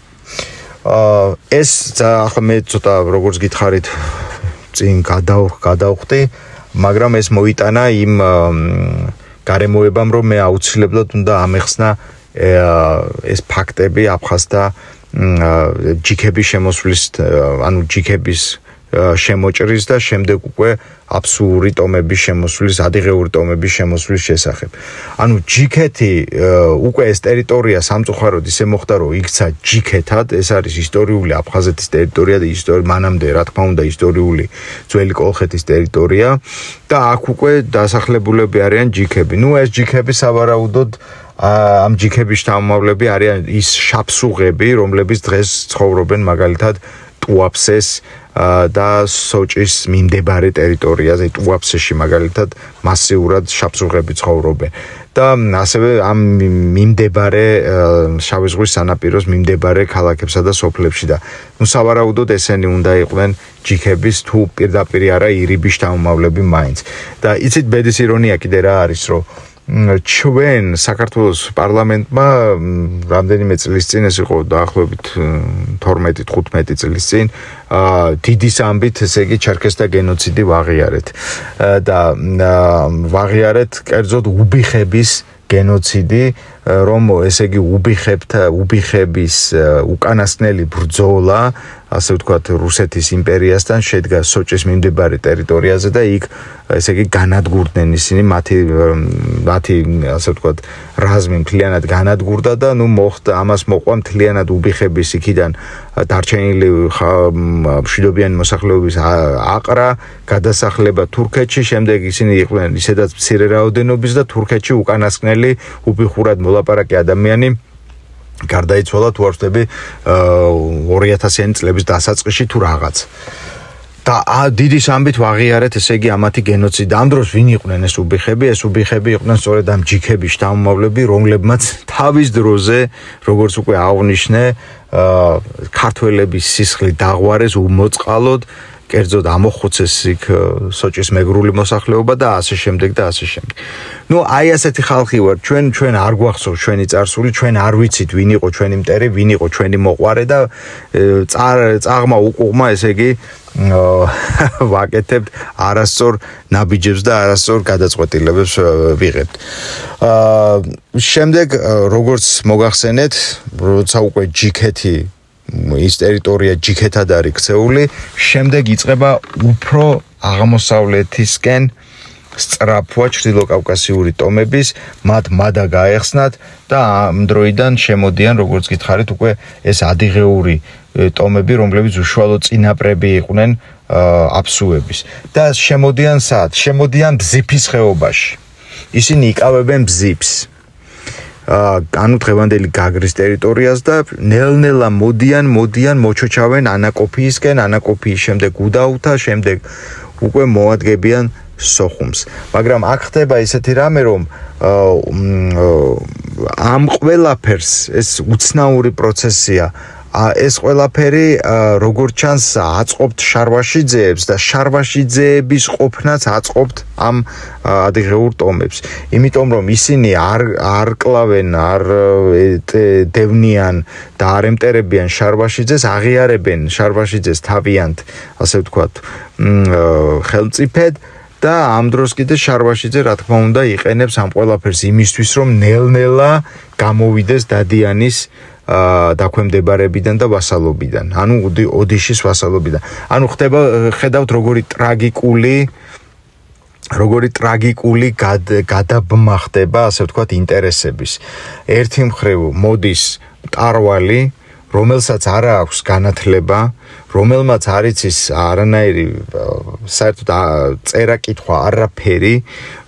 ეს ახლა მე ცოტა როგორც გითხარით წინ გადავხდი, მაგრამ ეს მოიტანა იმ გარემოებამ, რომ მე აუცილებლად უნდა ამეხსნა ეს ფაქტები აფხაზთა ჯიქების შემოსვლის, ანუ ჯიქების შემოჭრის და შემდეგ უკვე აბსურდი ტომების შემოსვლის, ადიღეური ტომების შემოსვლის შესახებ. ანუ ჯიქეთი უკვე ეს ტერიტორია სამწუხაროდ ისე მოხდა, რომ იქცა ჯიქეთად, ეს არის ისტორიული აფხაზეთის ტერიტორია და მანამდე, რა თქმა უნდა, ისტორიული ძველი კოლხეთის ტერიტორია და აქ უკვე დასახლებულები არიან ჯიქები. ეს ჯიქები სავარაუდოდ ამ ჯიქების შთამომავლები არიან ის შაფსუღები, რომლებიც დღეს ცხოვრობენ მაგალითად ტუაფსეს და სოჭის მიმდებარე ტერიტორიაზე, ტუაფსეში მაგალითად მასიურად შაფსუღები ცხოვრობენ. და ასევე ამ მიმდებარე შავი ზღვის სანაპიროს მიმდებარე ქალაქებსა და სოფლებში და სავარაუდოდ ესენი უნდა იყვნენ ჯიქების თუ პირდაპირ არა ირიბის შთამომავლები მაინც. და იცით ბედის ირონია კიდე რა არის, რომ ჩვენ საქართველოს პარლამენტმა რამდენიმე წლის წინ, ეს იყო დაახლოებით 12-15 წლის წინ, დიდის ამბით, ესე იგი ჩერქეზთა გენოციდი ვაღიარეთ და ვაღიარეთ კერძოდ უბიხების გენოციდი, რომ ესე იგი უბიხების უკანასკნელი ბრძოლა, ასე ვთქვათ, რუსეთის იმპერიასთან შედგა სოჭის მიმდებარე ტერიტორიაზე და იქ ესე იგი განადგურდნენ ისინი მათი ასე ვთქვათ რაზმი მთლიანად განადგურდა და ამას მოყვა მთლიანად უბიხების იქიდან დარჩენილი მშვიდობიანი მოსახლეობის აყრა, გადასახლება თურქეთში, შემდეგ ისინი იყვნენ ისედაც მცირე რაოდენობის და თურქეთში უკანასკნელი უბიხურად მოლაპარაკე ადამიანი გარდაიცვალა თუ არ ვთქვი 2000-იანი წლების დასაწყისში თუ რაღაც. და დიდი სამბით ვაღიარეთ, ესე იგი ამათი გენოციდი. ამ დროს ვინ იყვნენ ეს უბიხები? ეს უბიხები იყვნენ სწორედ ამ ჯიქების შთამომავლები, რომლებმაც თავის დროზე, როგორც უკვე აღნიშნე, ქართველების სისხლი დაღვარეს უმოწყალოდ, კერძოდ ამოხოცეს იქ სოჭის მეგრული მოსახლეობა და ასე შემდეგ და ასე შემდეგ. ნუ აი ასეთი ხალხი ვარ, ჩვენ არ გვახსოვს ჩვენი წარსული, ჩვენ არ ვიცით ვინ იყო ჩვენი მტერი, ვინ იყო ჩვენი მოყვარე და წაღმა უკუღმა, ესე იგი ვაკეთებთ არასწორ ნაბიჯებს და არასწორ გადაწყვეტილებებს ვიღებთ. შემდეგ როგორც მოგახსენეთ, როცა უკვე ჯიქეთი ის ტერიტორია ჯიქეთად არის ქცეული, შემდეგ იწყება უფრო აღმოსავლეთისკენ სწრაფვა ჩრდილოკავკასიური ტომების, მათ მადა გაეხსნათ და ამ დროიდან შემოდიან, როგორც გითხარით, უკვე ეს ადიღეური ტომები, რომლებიც უშუალოდ წინაპრები იყვნენ აფსუების და შემოდიან სად? შემოდიან ბზიფის ხეობაში. ისინი იკავებენ ბზიფს. ანუ დღევანდელი გაგრის ტერიტორიას და ნელ-ნელა მოდიან მოჩოჩავენ ანაკოფიისკენ, ანაკოფიის შემდეგ უდაუთა, შემდეგ უკვე მოადგებიან სოხუმს. მაგრამ აქ ხდება ისეთი რამე, რომ ამ ყველაფერს ეს უცნაური პროცესია, ეს ყველაფერი როგორც ჩანს აწყობთ შარვაშიძეებს და შარვაშიძეების ყოფნაც აწყობთ ამ ადიღეურ ტომებს. იმიტომ რომ ისინი არ კლავენ, არ დევნიან და არ ემტერებიან შარვაშიძეს, აღიარებენ შარვაშიძეს თავიანთ, ასე ვთქვათ, ხელმწიფედ და ამ დროს კიდე შარვაშიძე რა თქმა უნდა იყენებს ამ ყველაფერს იმისთვის, რომ ნელ-ნელა გამოვიდეს დადიანის დაქვემდებარებიდან და ვასალობიდან, ანუ ოდიშის ვასალობიდან. ანუ ხედავთ როგორი ტრაგიკული გადაბმა ხდება, ასე ვთქვათ, ინტერესების. ერთი მხრივ მოდის მტარვალი, რომელსაც არ აქვს განათლება, რომელმაც არ იცის არანაირი საერთოდ წერა-კითხვა არაფერი,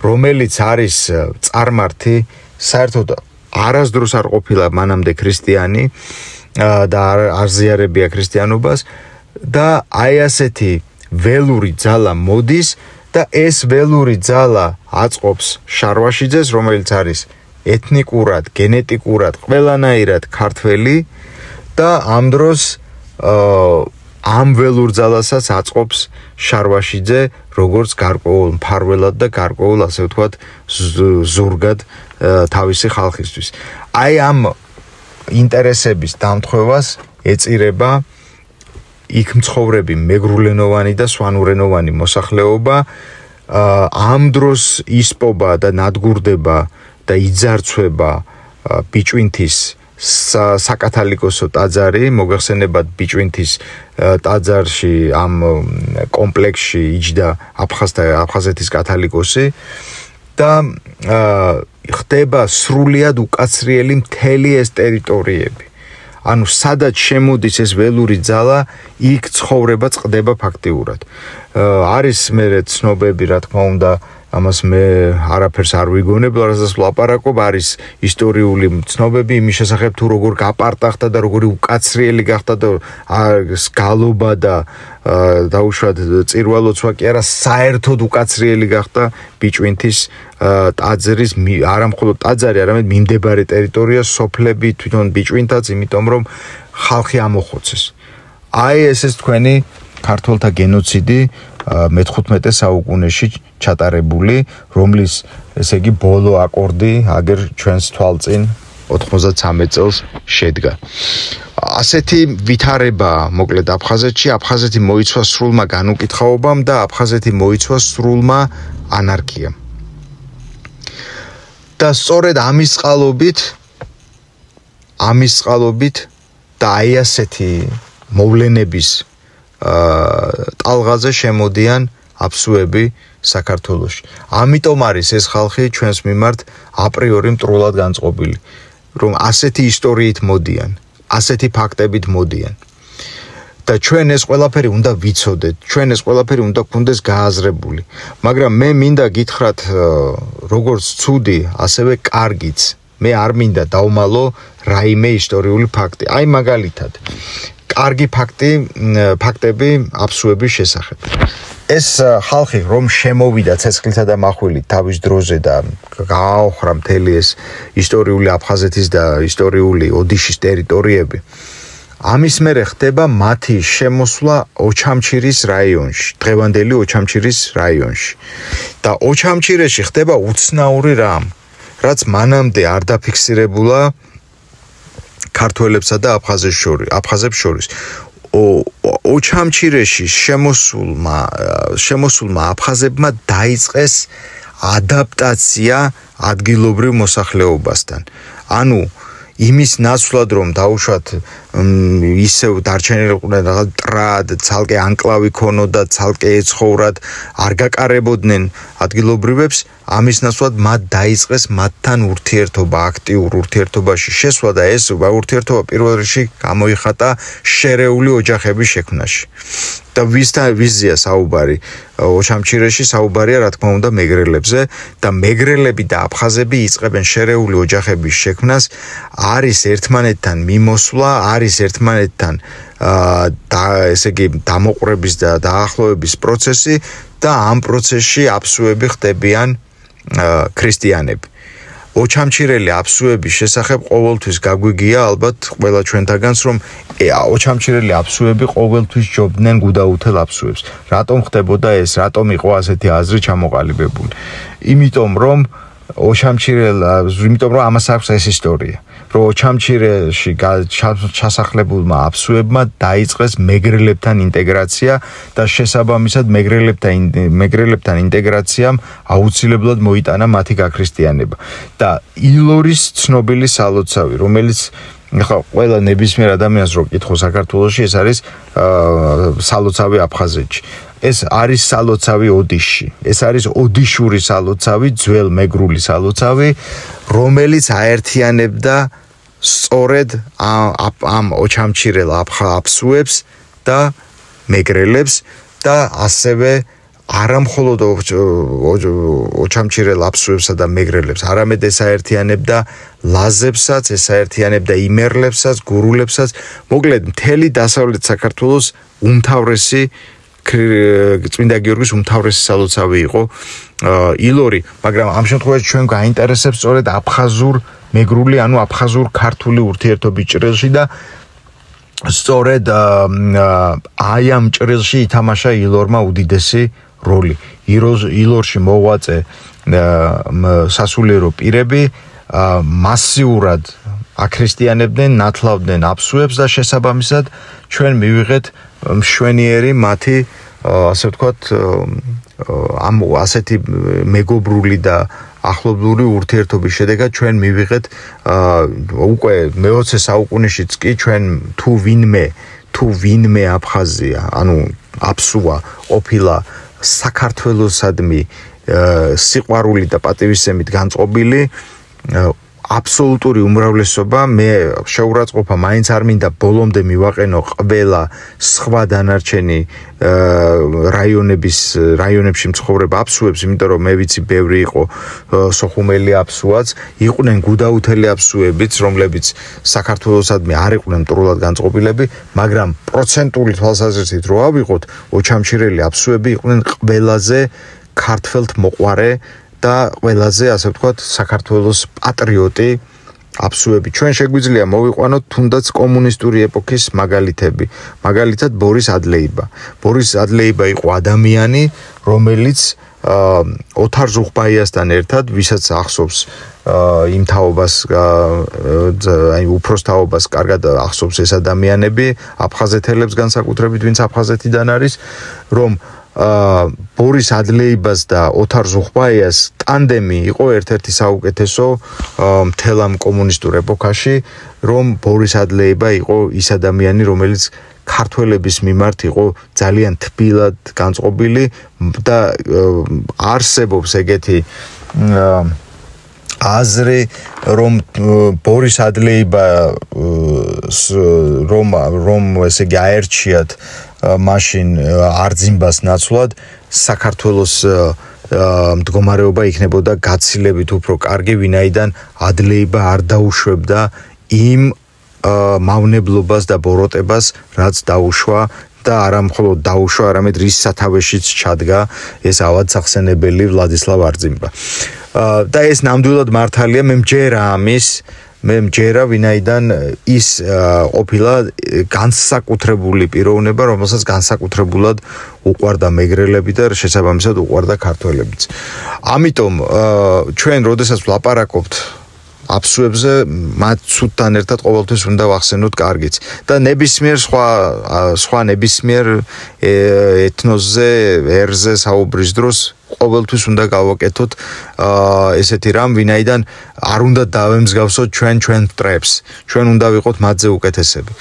რომელიც არის წარმართი, საერთოდ არასდროს არ ყოფილა მანამდე ქრისტიანი და არ ზიარებია ქრისტიანობას და აი ასეთი ველური ძალა მოდის და ეს ველური ძალა აწყობს შარვაშიძეს, რომელიც არის ეთნიკურად, გენეტიკურად ყველანაირად ქართველი და ამ დროს ამ ველურ ძალასაც აწყობს შარვაშიძე როგორც გარკვეულ მფარველად და გარკვეულ, ასე ვთქვათ, ზურგად თავისი ხალხისთვის. აი ამ ინტერესების დამთხევას ეწირება იქ მცხოვრები მეგრულენოვანი და სვანურენოვანი მოსახლეობა, ამ დროს ისპობა და ნადგურდება და იძარცვება ბიჭვინთის საკათალიკოსო ტაძარი, მოგახსენებათ ბიჭვინთის ტაძარში ამ კომპლექსში იჯდა აფხაზეთის კათალიკოსი და ხდება სრულიად უკაცრიელი მთელი ეს ტერიტორიები. ანუ სადაც შემოდის ეს ველური ძალა, იქ ცხოვრება წყდება ფაქტიურად. არის მე ცნობები, რა თქმა უნდა, ამას მე არაფერს არ ვიგონებ, რასაც ვლაპარაკობ, არის ისტორიული ცნობები იმის შესახებ, თუ როგორ გაპარტახდა და როგორი უკაცრიელი გახდა და გალობა და დაუშვათ წირვალოცვა კი არა, საერთოდ უკაცრიელი გახდა ბიჭვინთის ტაძრის, არა მხოლოდ ტაძარი, არამედ მიმდებარე ტერიტორია, სოფლები, თვითონ ბიჭვინთაც, იმიტომ რომ ხალხი ამოხოცეს. აი ეს თქვენი ქართველთა გენოციდი მე-15 საუკუნეში ჩატარებული, რომლის ესე იგი ბოლო აკორდი აგერ ჩვენს თვალწინ 93 წელს შედგა. ასეთი ვითარება მოკლედ აფხაზეთში, აფხაზეთი მოიცვა სრულმა განუკითხაობამ და აფხაზეთი მოიცვა სრულმა ანარქიამ. და სწორედ ამის წყალობით და აი ასეთი მოვლენების ტალღაზე შემოდიან აფსუები საქართველოში. ამიტომ არის ეს ხალხი ჩვენს მიმართ აპრიორი მტრულად განწყობილი, რომ ასეთი ისტორიით მოდიან, ასეთი ფაქტებით მოდიან. და ჩვენ ეს ყველაფერი უნდა ვიცოდეთ, ჩვენ ეს ყველაფერი უნდა გქონდეს გააზრებული. მაგრამ მე მინდა გითხრათ, როგორც ცუდი, ასევე კარგიც. მე არ მინდა დავმალო რაიმე ისტორიული ფაქტი. აი მაგალითად კარგი ფაქტები აფსუების შესახებ. ეს ხალხი რომ შემოვიდა ცეცხლითა და מחვილით თავის დროზე და გააოხრა მთელი ეს ისტორიული აფხაზეთის და ისტორიული ოდიშის ტერიტორიები, ამის მერე ხდება მათი შემოსვლა ოჩამჩირის რაიონში, დღევანდელი ოჩამჩირის რაიონში. და ოჩამჩირეში ხდება უცნაური რამ, რაც მანამდე არ დაფიქსირებულა ქართველებსა და აფხაზებს შორის. ოჩამჩირეში შემოსულმა აფხაზებმა დაიწყეს ადაპტაცია ადგილობრივ მოსახლეობასთან. ანუ იმის ნაცვლად რომ დაუშვათ ისევ დარჩენილიყვნენ რაღაც ტრად, ცალკე ანკლავი ქონოდა, ცალკე ეცხოვრათ, არ გაკარებოდნენ ადგილობრივებს, ამის ნაცვლად მათ დაიწყეს მათთან ურთიერთობა, აქტიურ ურთიერთობაში შესვლა და ეს ურთიერთობა პირველ რიგში გამოიხატა შერეული ოჯახების შექმნაში. და ვიზია საუბარი ოჩამჩირეში, საუბარია რა თქმა უნდა მეგრელებზე და მეგრელები და აფხაზები იწყებენ შერეული ოჯახების შექმნას, არის ერთმანეთთან მიმოსვლა, არის ერთმანეთთან ესე იგი დამოყრების და დაახლოების პროცესი და ამ პროცესში აფსუები ხდებიან ქრისტიანები. ოჩამჩირელი აფსუების შესახებ ყოველთვის გაგვიგია ალბათ ყველა ჩვენთაგანს რომ ოჩამჩირელი აფსუები ყოველთვის ჯობდნენ გუდაუთელ აფსუებს. რატომ ხდებოდა ეს? რატომ იყო ასეთი აზრი ჩამოყალიბებული? იმიტომ რომ ამას აქვს ეს ისტორია. რომ ოჩამჩირეში ჩასახლებულმა აფსუებმა დაიწყეს მეგრელებთან ინტეგრაცია და შესაბამისად მეგრელებთან ინტეგრაციამ აუცილებლად მოიტანა მათი გაქრისტიანება. და ილორის ცნობილი სალოცავი, რომელიც ახლა ყველა ნებისმიერ ადამიანს რო კითხო საქართველოში, ეს არის სალოცავი აფხაზეთში. ეს არის სალოცავი ოდიშში. ეს არის ოდიშური სალოცავი, ძველ მეგრული სალოცავი, რომელიც აერთიანებდა სწორედ ამ ოჩამჩირელ აფსუებს და მეგრელებს და ასევე არა მხოლოდ ოჩამჩირელ აფსუებსა და მეგრელებს, არამედ ეს აერთიანებდა ლაზებსაც, ეს აერთიანებდა იმერლებსაც, გურულებსაც, მოკლედ მთელი დასავლეთ საქართველოს უმთავრესი წმინდა გიორგის უმთავრესი სალოცავი იყო ილორი, მაგრამ ამ შემთხვევაში ჩვენ გაინტერესებს სწორედ აფხაზურ მეგრული, ანუ აფხაზურ ქართული ურთიერთობის ჭრილში და სწორედ აი ამ ჭრილში ითამაშა ილორმა უდიდესი როლი. ილორში მოღვაწე სასულიერო პირები მასიურად აქრისტიანებდნენ, ნათლავდნენ აფსუებს და შესაბამისად ჩვენ მივიღეთ მშვენიერი მათი ასე ვთქვათ ასეთი მეგობრული და ახლობლური ურთიერთობის შედეგად ჩვენ მივიღეთ უკვე მე-20 საუკუნეშიც კი ჩვენ თუ ვინმე აფხაზია, ანუ აფსუა ყოფილა საქართველოსადმი სიყვარული და პატივისცემით განწყობილი, აბსოლუტური უმრავლესობა მე შეურაცხყოფა მაინც არ მინდა ბოლომდე მივაყენო ყველა სხვა დანარჩენი რაიონებში მცხოვრებ აფსუებს, იმიტომ რომ მე ვიცი ბევრი იყო სოხუმელი აფსუაც, იყვნენ გუდაუთელი აფსუებიც, რომლებიც საქართველოსადმი არ იყვნენ მტრულად განწყობილები, მაგრამ პროცენტული თვალსაზრისით რო ავიღოთ, ოჩამჩირელი აფსუები იყვნენ ყველაზე ქართველთმოყვარე და ყველაზე ასე ვთქვათ საქართველოს პატრიოტი აფსუები. ჩვენ შეგვიძლია მოვიყვანოთ თუნდაც კომუნისტური ეპოქის მაგალითები. მაგალითად ბორის ადლეიბა. ბორის ადლეიბა იყო ადამიანი, რომელიც ოთარ ზუხბაიასთან ერთად, ვისაც ახსოვს იმ თაობას, აი უფროს თაობას კარგად ახსოვს ეს ადამიანები, აფხაზეთელებს განსაკუთრებით, ვინც აფხაზეთიდან არის, რომ ბორის ადლეიბას და ოთარ ზუხბაიას ტანდემი იყო ერთ-ერთი საუკეთესო მთელ ამ კომუნისტურ ეპოქაში, რომ ბორის ადლეიბა იყო ის ადამიანი, რომელიც ქართველების მიმართ იყო ძალიან თბილად განწყობილი და არსებობს ეგეთი აზრი, რომ ბორის ადლეიბა რომ ესე იგი აერჩიათ მაშინ არძიმბას ნაცვლად საქართველოს მდგომარეობა იქნებოდა გაცილებით უფრო კარგი, ვინაიდან ადლეიბა არ დაუშვებდა იმ მავნებლობას და ბოროტებას, რაც დაუშვა და არა მხოლოდ დაუშვა, არამედ რის სათავეშიც ჩადგა ეს ავადსახსენებელი ვლადისლავ არძიმბა. და ეს ნამდვილად მართალია, მე მჯერა ამის, მე მჯერა, ვინაიდან ის ყოფილა განსაკუთრებული პიროვნება, რომელსაც განსაკუთრებულად უყვარდა მეგრელები და შესაბამისად უყვარდა ქართველებიც. ამიტომ ჩვენ როდესაც ვლაპარაკობთ აფსუებზე, მათ ცუდთან ერთად ყოველთვის უნდა ვახსენოთ კარგიც და ნებისმიერ სხვა ნებისმიერ ეთნოსზე, ერზე საუბრის დროს ყოველთვის უნდა გავაკეთოთ ესეთი რამ, ვინაიდან არ უნდა დავემსგავსოთ ჩვენ მტრებს, ჩვენ უნდა ვიყოთ მათზე უკეთესები.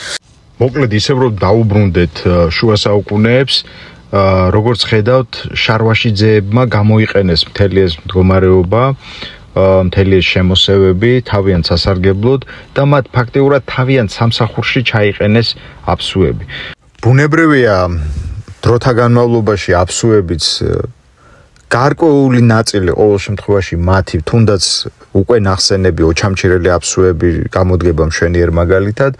მოკლედ ისევ რომ დაუბრუნდეთ შუა საუკუნეებს, როგორც ხედავთ, შარვაშიძეებმა გამოიყენეს მთელი ეს მდგომარეობა, მთელი ეს შემოსევები თავიანთ სასარგებლოდ და მათ ფაქტიურად თავიანთ სამსახურში ჩაიყენეს აფსუები. ბუნებრივია დროთა განმავლობაში აფსუებიც გარკვეული ნაწილი ყოველ შემთხვევაში მათი თუნდაც უკვე ნახსენები ოჩამჩირელი აფსუები გამოდგება მშვენიერ მაგალითად,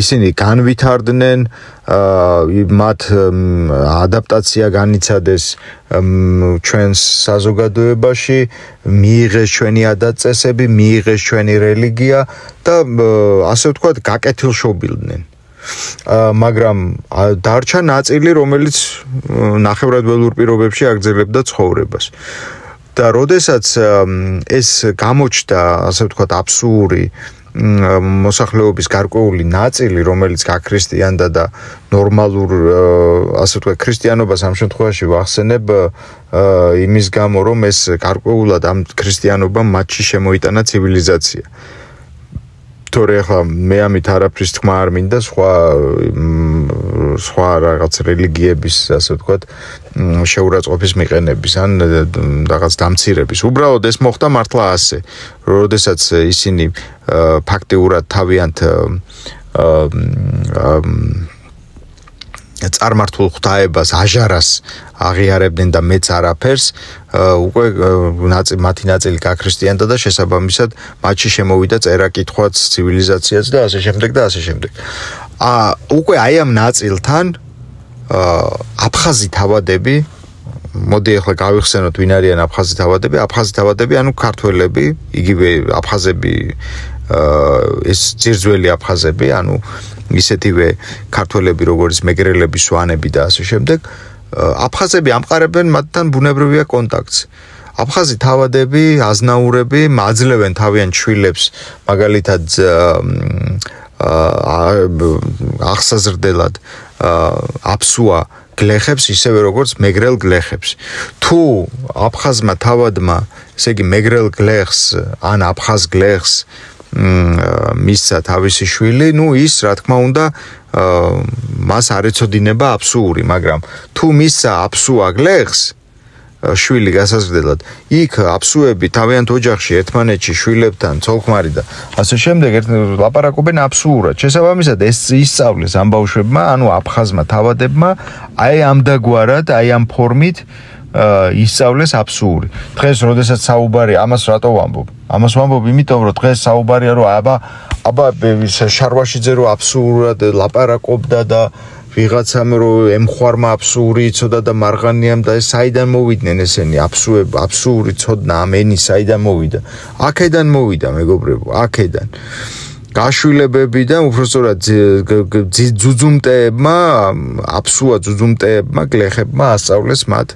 ისინი განვითარდნენ, მათ ადაპტაცია განიცადეს ჩვენს საზოგადოებაში, მიიღეს ჩვენი ადაწესები, მიიღეს ჩვენი რელიგია და ასე ვთქვათ, გაკეთილშობილდნენ. მაგრამ დარჩა ნაწილი, რომელიც ნახევრად ველურ პირობებში აგრძელებდა ცხოვრებას. და როდესაც ეს გამოჩნდა, ასე ვთქვათ, აბსურდი მოსახლეობის გარკვეული ნაწილი, რომელიც გაქრისტიანდა და ნორმალურ, ასე ვთქვათ, ქრისტიანობას ამ შემთხვევაში ვახსენებ იმის გამო, რომ ეს გარკვეულად ამ ქრისტიანობამ მათში შემოიტანა ცივილიზაცია. თორე ახლა მე ამით არაფრის თქმა არ მინდა სხვა რაღაც რელიგიების, ასე ვთქვათ, შეურაცხყოფის მიყენების ან რაღაც დამცირების. უბრალოდ ეს მოხდა მართლა ასე, როდესაც ისინი ფაქტიურად თავიანთ წარმართულ ღვთაებას, აჟარას აღიარებდნენ და მეც არაფერს, უკვე მათი ნაწილი გაქრისტიანდა და შესაბამისად მათში შემოვიდა წერა-კითხვაც, ცივილიზაციაც და ასე შემდეგ და ასე შემდეგ. უკვე აი ამ ნაწილთან აფხაზი თავადები, მოდი ახლა გავიხსენოთ ვინ არიან აფხაზი თავადები. აფხაზი თავადები, ანუ ქართველები, იგივე აფხაზები, ეს ძირძველი აფხაზები, ანუ ისეთივე ქართველები, როგორც მეგრელები, სვანები და ასე შემდეგ. აფხაზები ამყარებენ მათთან ბუნებრივია კონტაქტს. აფხაზი თავადები, აზნაურები აძლევენ თავიანთ შვილებს, მაგალითად აღსაზრდელად აფსუა გლეხებს, ისევე როგორც მეგრელ გლეხებს. თუ აფხაზმა თავადმა, ესე იგი მეგრელ გლეხს ან აფხაზ გლეხს მისცა თავისი შვილი, ის რა თქმა უნდა მას არ ეცოდინება აფსუური, მაგრამ თუ მისცა აფსუა გლეხს შვილი გასაზრდელად, იქ აფსუები თავიანთ ოჯახში ერთმანეთში შვილებთან, ცოლ-ქმარი და ასე შემდეგ ლაპარაკობენ აფსუურად. შესაბამისად ეს ისწავლეს ამ ბავშვებმა, ანუ აფხაზმა თავადებმა, აი ამდაგვარად, აი ამ ფორმით ისწავლეს აფსური. დღეს როდესაც საუბარი ამას რატო ვამბობ? ამას ვამბობ იმიტომ, რომ დღეს საუბარია, რომ აბა შარვაშიძე რო აფსურად ლაპარაკობდა და ვიღაცამ რო ემხვარმა აფსური იცოდა და მარღანიამ და ეს საიდან მოვიდნენ ესენი აფსური ცოდნა ამ ენის საიდან მოვიდა? აქედან მოვიდა, მეგობრებო, აქედან. გაშვილებებიდან უბრალოდ ძუძუმტეებმა, აფსუა ძუძუმტეებმა, გლეხებმა ასწავლეს მათ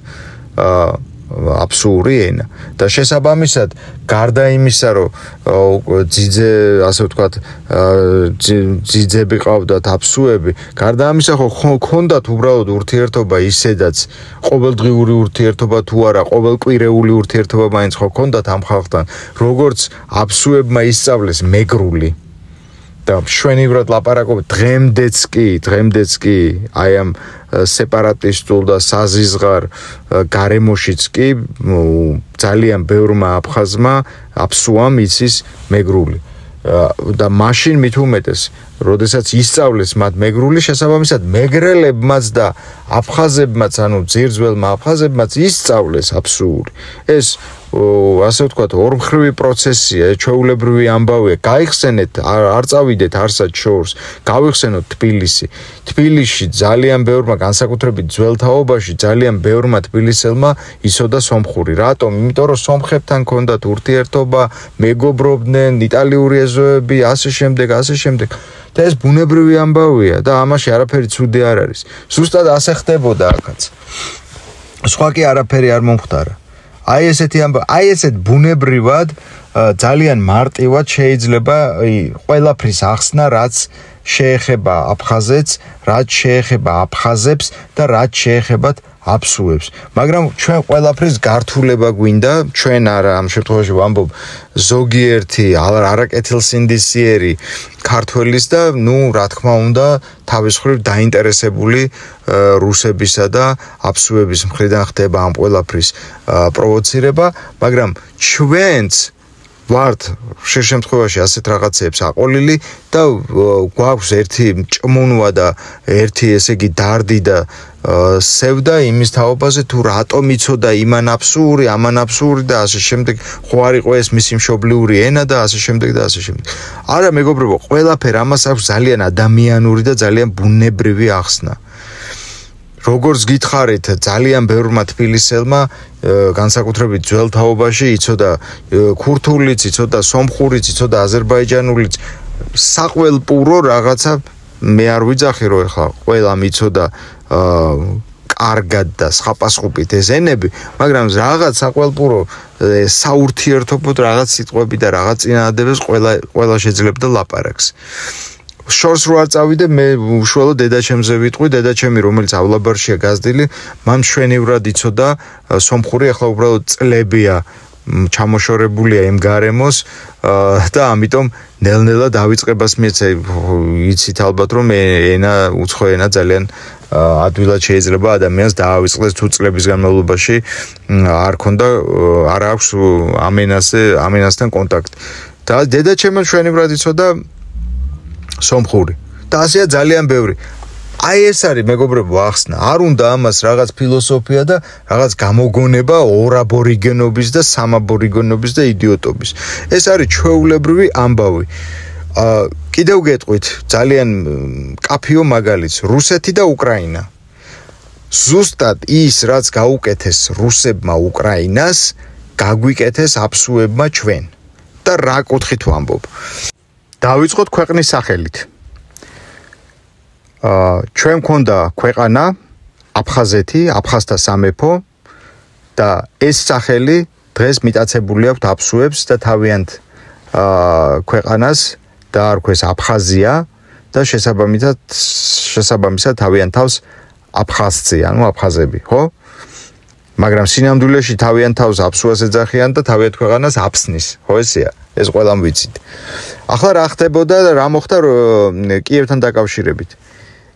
აფსური ენა და შესაბამისად გარდა იმისა, რომ ძიძე, ასე ვთქვათ, ძიძები ყავდათ აფსუები, გარდა ამისა ხო ჰქონდათ უბრალოდ ურთიერთობა ისედაც, ყოველდღიური ურთიერთობა თუ არა, ყოველკვირეული ურთიერთობა მაინც ხო ჰქონდათ ამ ხალხთან, როგორც აფსუებმა ისწავლეს მეგრული. და მშვენივრად ლაპარაკობთ დღემდეც კი აი ამ სეპარატისტულ და საზიზღარ გარემოშიც კი ძალიან ბევრმა აფხაზმა აფსუამ იცის მეგრული და მაშინ მით უმეტეს როდესაც ისწავლეს მათ მეგრული შესაბამისად მეგრელებმაც და აფხაზებმაც ანუ ძირძველმა აფხაზებმაც ისწავლეს აფსური ეს ასე ვთქვათ, ორმხრივი პროცესია, ჩვეულებრივი ამბავია. გაიხსენეთ, არ წავიდეთ არსად შორს, გავიხსენოთ თბილისი. თბილისში ძალიან ბევრმა, განსაკუთრებით ძველ თაობაში, ძალიან ბევრმა თბილისელმა იცოდა სომხური. რატომ? იმიტომ რომ სომხებთან ჰქონდათ ურთიერთობა, მეგობრობდნენ, იტალიური ეზოები, ასე შემდეგ. და ეს ბუნებრივი ამბავია და ამაში არაფერი ცუდი არ არის. ზუსტად ასე ხდებოდა აქაც. სხვა კი არაფერი არ მომხდარა. აი ესეთი ამბავი, აი ესეთ ბუნებრივად ძალიან მარტივად შეიძლება ყველაფრის ახსნა, რაც შეეხება აფხაზეთს, რაც შეეხება აფხაზებს და რაც შეეხებათ აფსუებს. მაგრამ ჩვენ ყველაფრის გართულება გვინდა, ჩვენ არა ამ შემთხვევაში ვამბობ ზოგიერთი არაკეთილსინდისიერი ქართველის და რა თქმა უნდა თავის მხრივ დაინტერესებული რუსებისა და აფსუების მხრიდან ხდება ამ ყველაფრის პროვოცირება, მაგრამ ჩვენც ვართ ხშირ შემთხვევაში ასეთ რაღაცებს აყოლილი და გვაქვს ერთი ჭმუნვა და ერთი ესე იგი დარდი და სევდა იმის თაობაზე თუ რატომ იცოდა იმან აფსური, ამან აფსური და ასე შემდეგ, ხო არ იყო ეს მისი მშობლიური ენა და ასე შემდეგ და ასე შემდეგ. არა მეგობრებო, ყველაფერ ამას აქვს ძალიან ადამიანური და ძალიან ბუნებრივი ახსნა. როგორც გითხარით, ძალიან ბევრმა თბილისელმა განსაკუთრებით ძველ თაობაში იცოდა ქურთულიც, იცოდა სომხურიც, იცოდა აზერბაიჯანულიც, საყველპურო რაღაცა მე არ ვიძახი რომ ეხლა ყველამ იცოდა კარგად და სხვაპასხუპით ეს ენები, მაგრამ რაღაც საყველპურო საურთიერთობოდ რაღაც სიტყვები და რაღაც წინადადებას ყველა შეძლებდა ლაპარაკს. შორს რო არ წავიდე, მე უშუალოდ დედაჩემზე ვიტყვი, დედაჩემი რომელიც ავლაბარშია გაზრდილი, მან მშვენივრად იცოდა სომხური, ახლა უბრალოდ წლებია ჩამოშორებულია იმ გარემოს და ამიტომ ნელ-ნელა დავიწყებას მიეცა, იცით ალბათ რომ ენა უცხო ენა ძალიან ადვილად შეიძლება ადამიანს დაავიწყდეს თუ წლების განმავლობაში არ აქვს ამენასთან კონტაქტი. და დედაჩემი მშვენივრად იცოდა სომხური. და ასეა ძალიან ბევრი. აი ეს არის მეგობრებო ახსნა. არ უნდა ამას რაღაც ფილოსოფია და რაღაც გამოგონება ორაბორიგენობის და სამაბორიგენობის და იდიოტობის. ეს არის ჩვეულებრივი ამბავი. კიდევ გეტყვით ძალიან კაფიო მაგალითს, რუსეთი და უკრაინა. ზუსტად ის რაც გაუკეთეს რუსებმა უკრაინას, გაგვიკეთეს აფსუებმა ჩვენ. და რა კუთხით ვამბობ? დავიწყოთ ქვეყნის სახელით. ჩვენ მქონდა ქვეყანა აფხაზეთი, აფხაზთა სამეფო და ეს სახელი დღეს მიტაცებული აქვს აფსუებს და თავიანთ ქვეყანას დაარქვეს აფხაზია და შესაბამისად თავიანთ თავს აფხაზцы, ანუ აფხაზები, ხო? მაგრამ სინამდვილეში თავიანთ თავს აფსუას ეძახიან და თავიანთ ქვეყანას აფსნის, ხო ესეა? ეს ყველამ ვიცით. ახლა რა ხდებოდა და რა მოხდა კიევთან დაკავშირებით?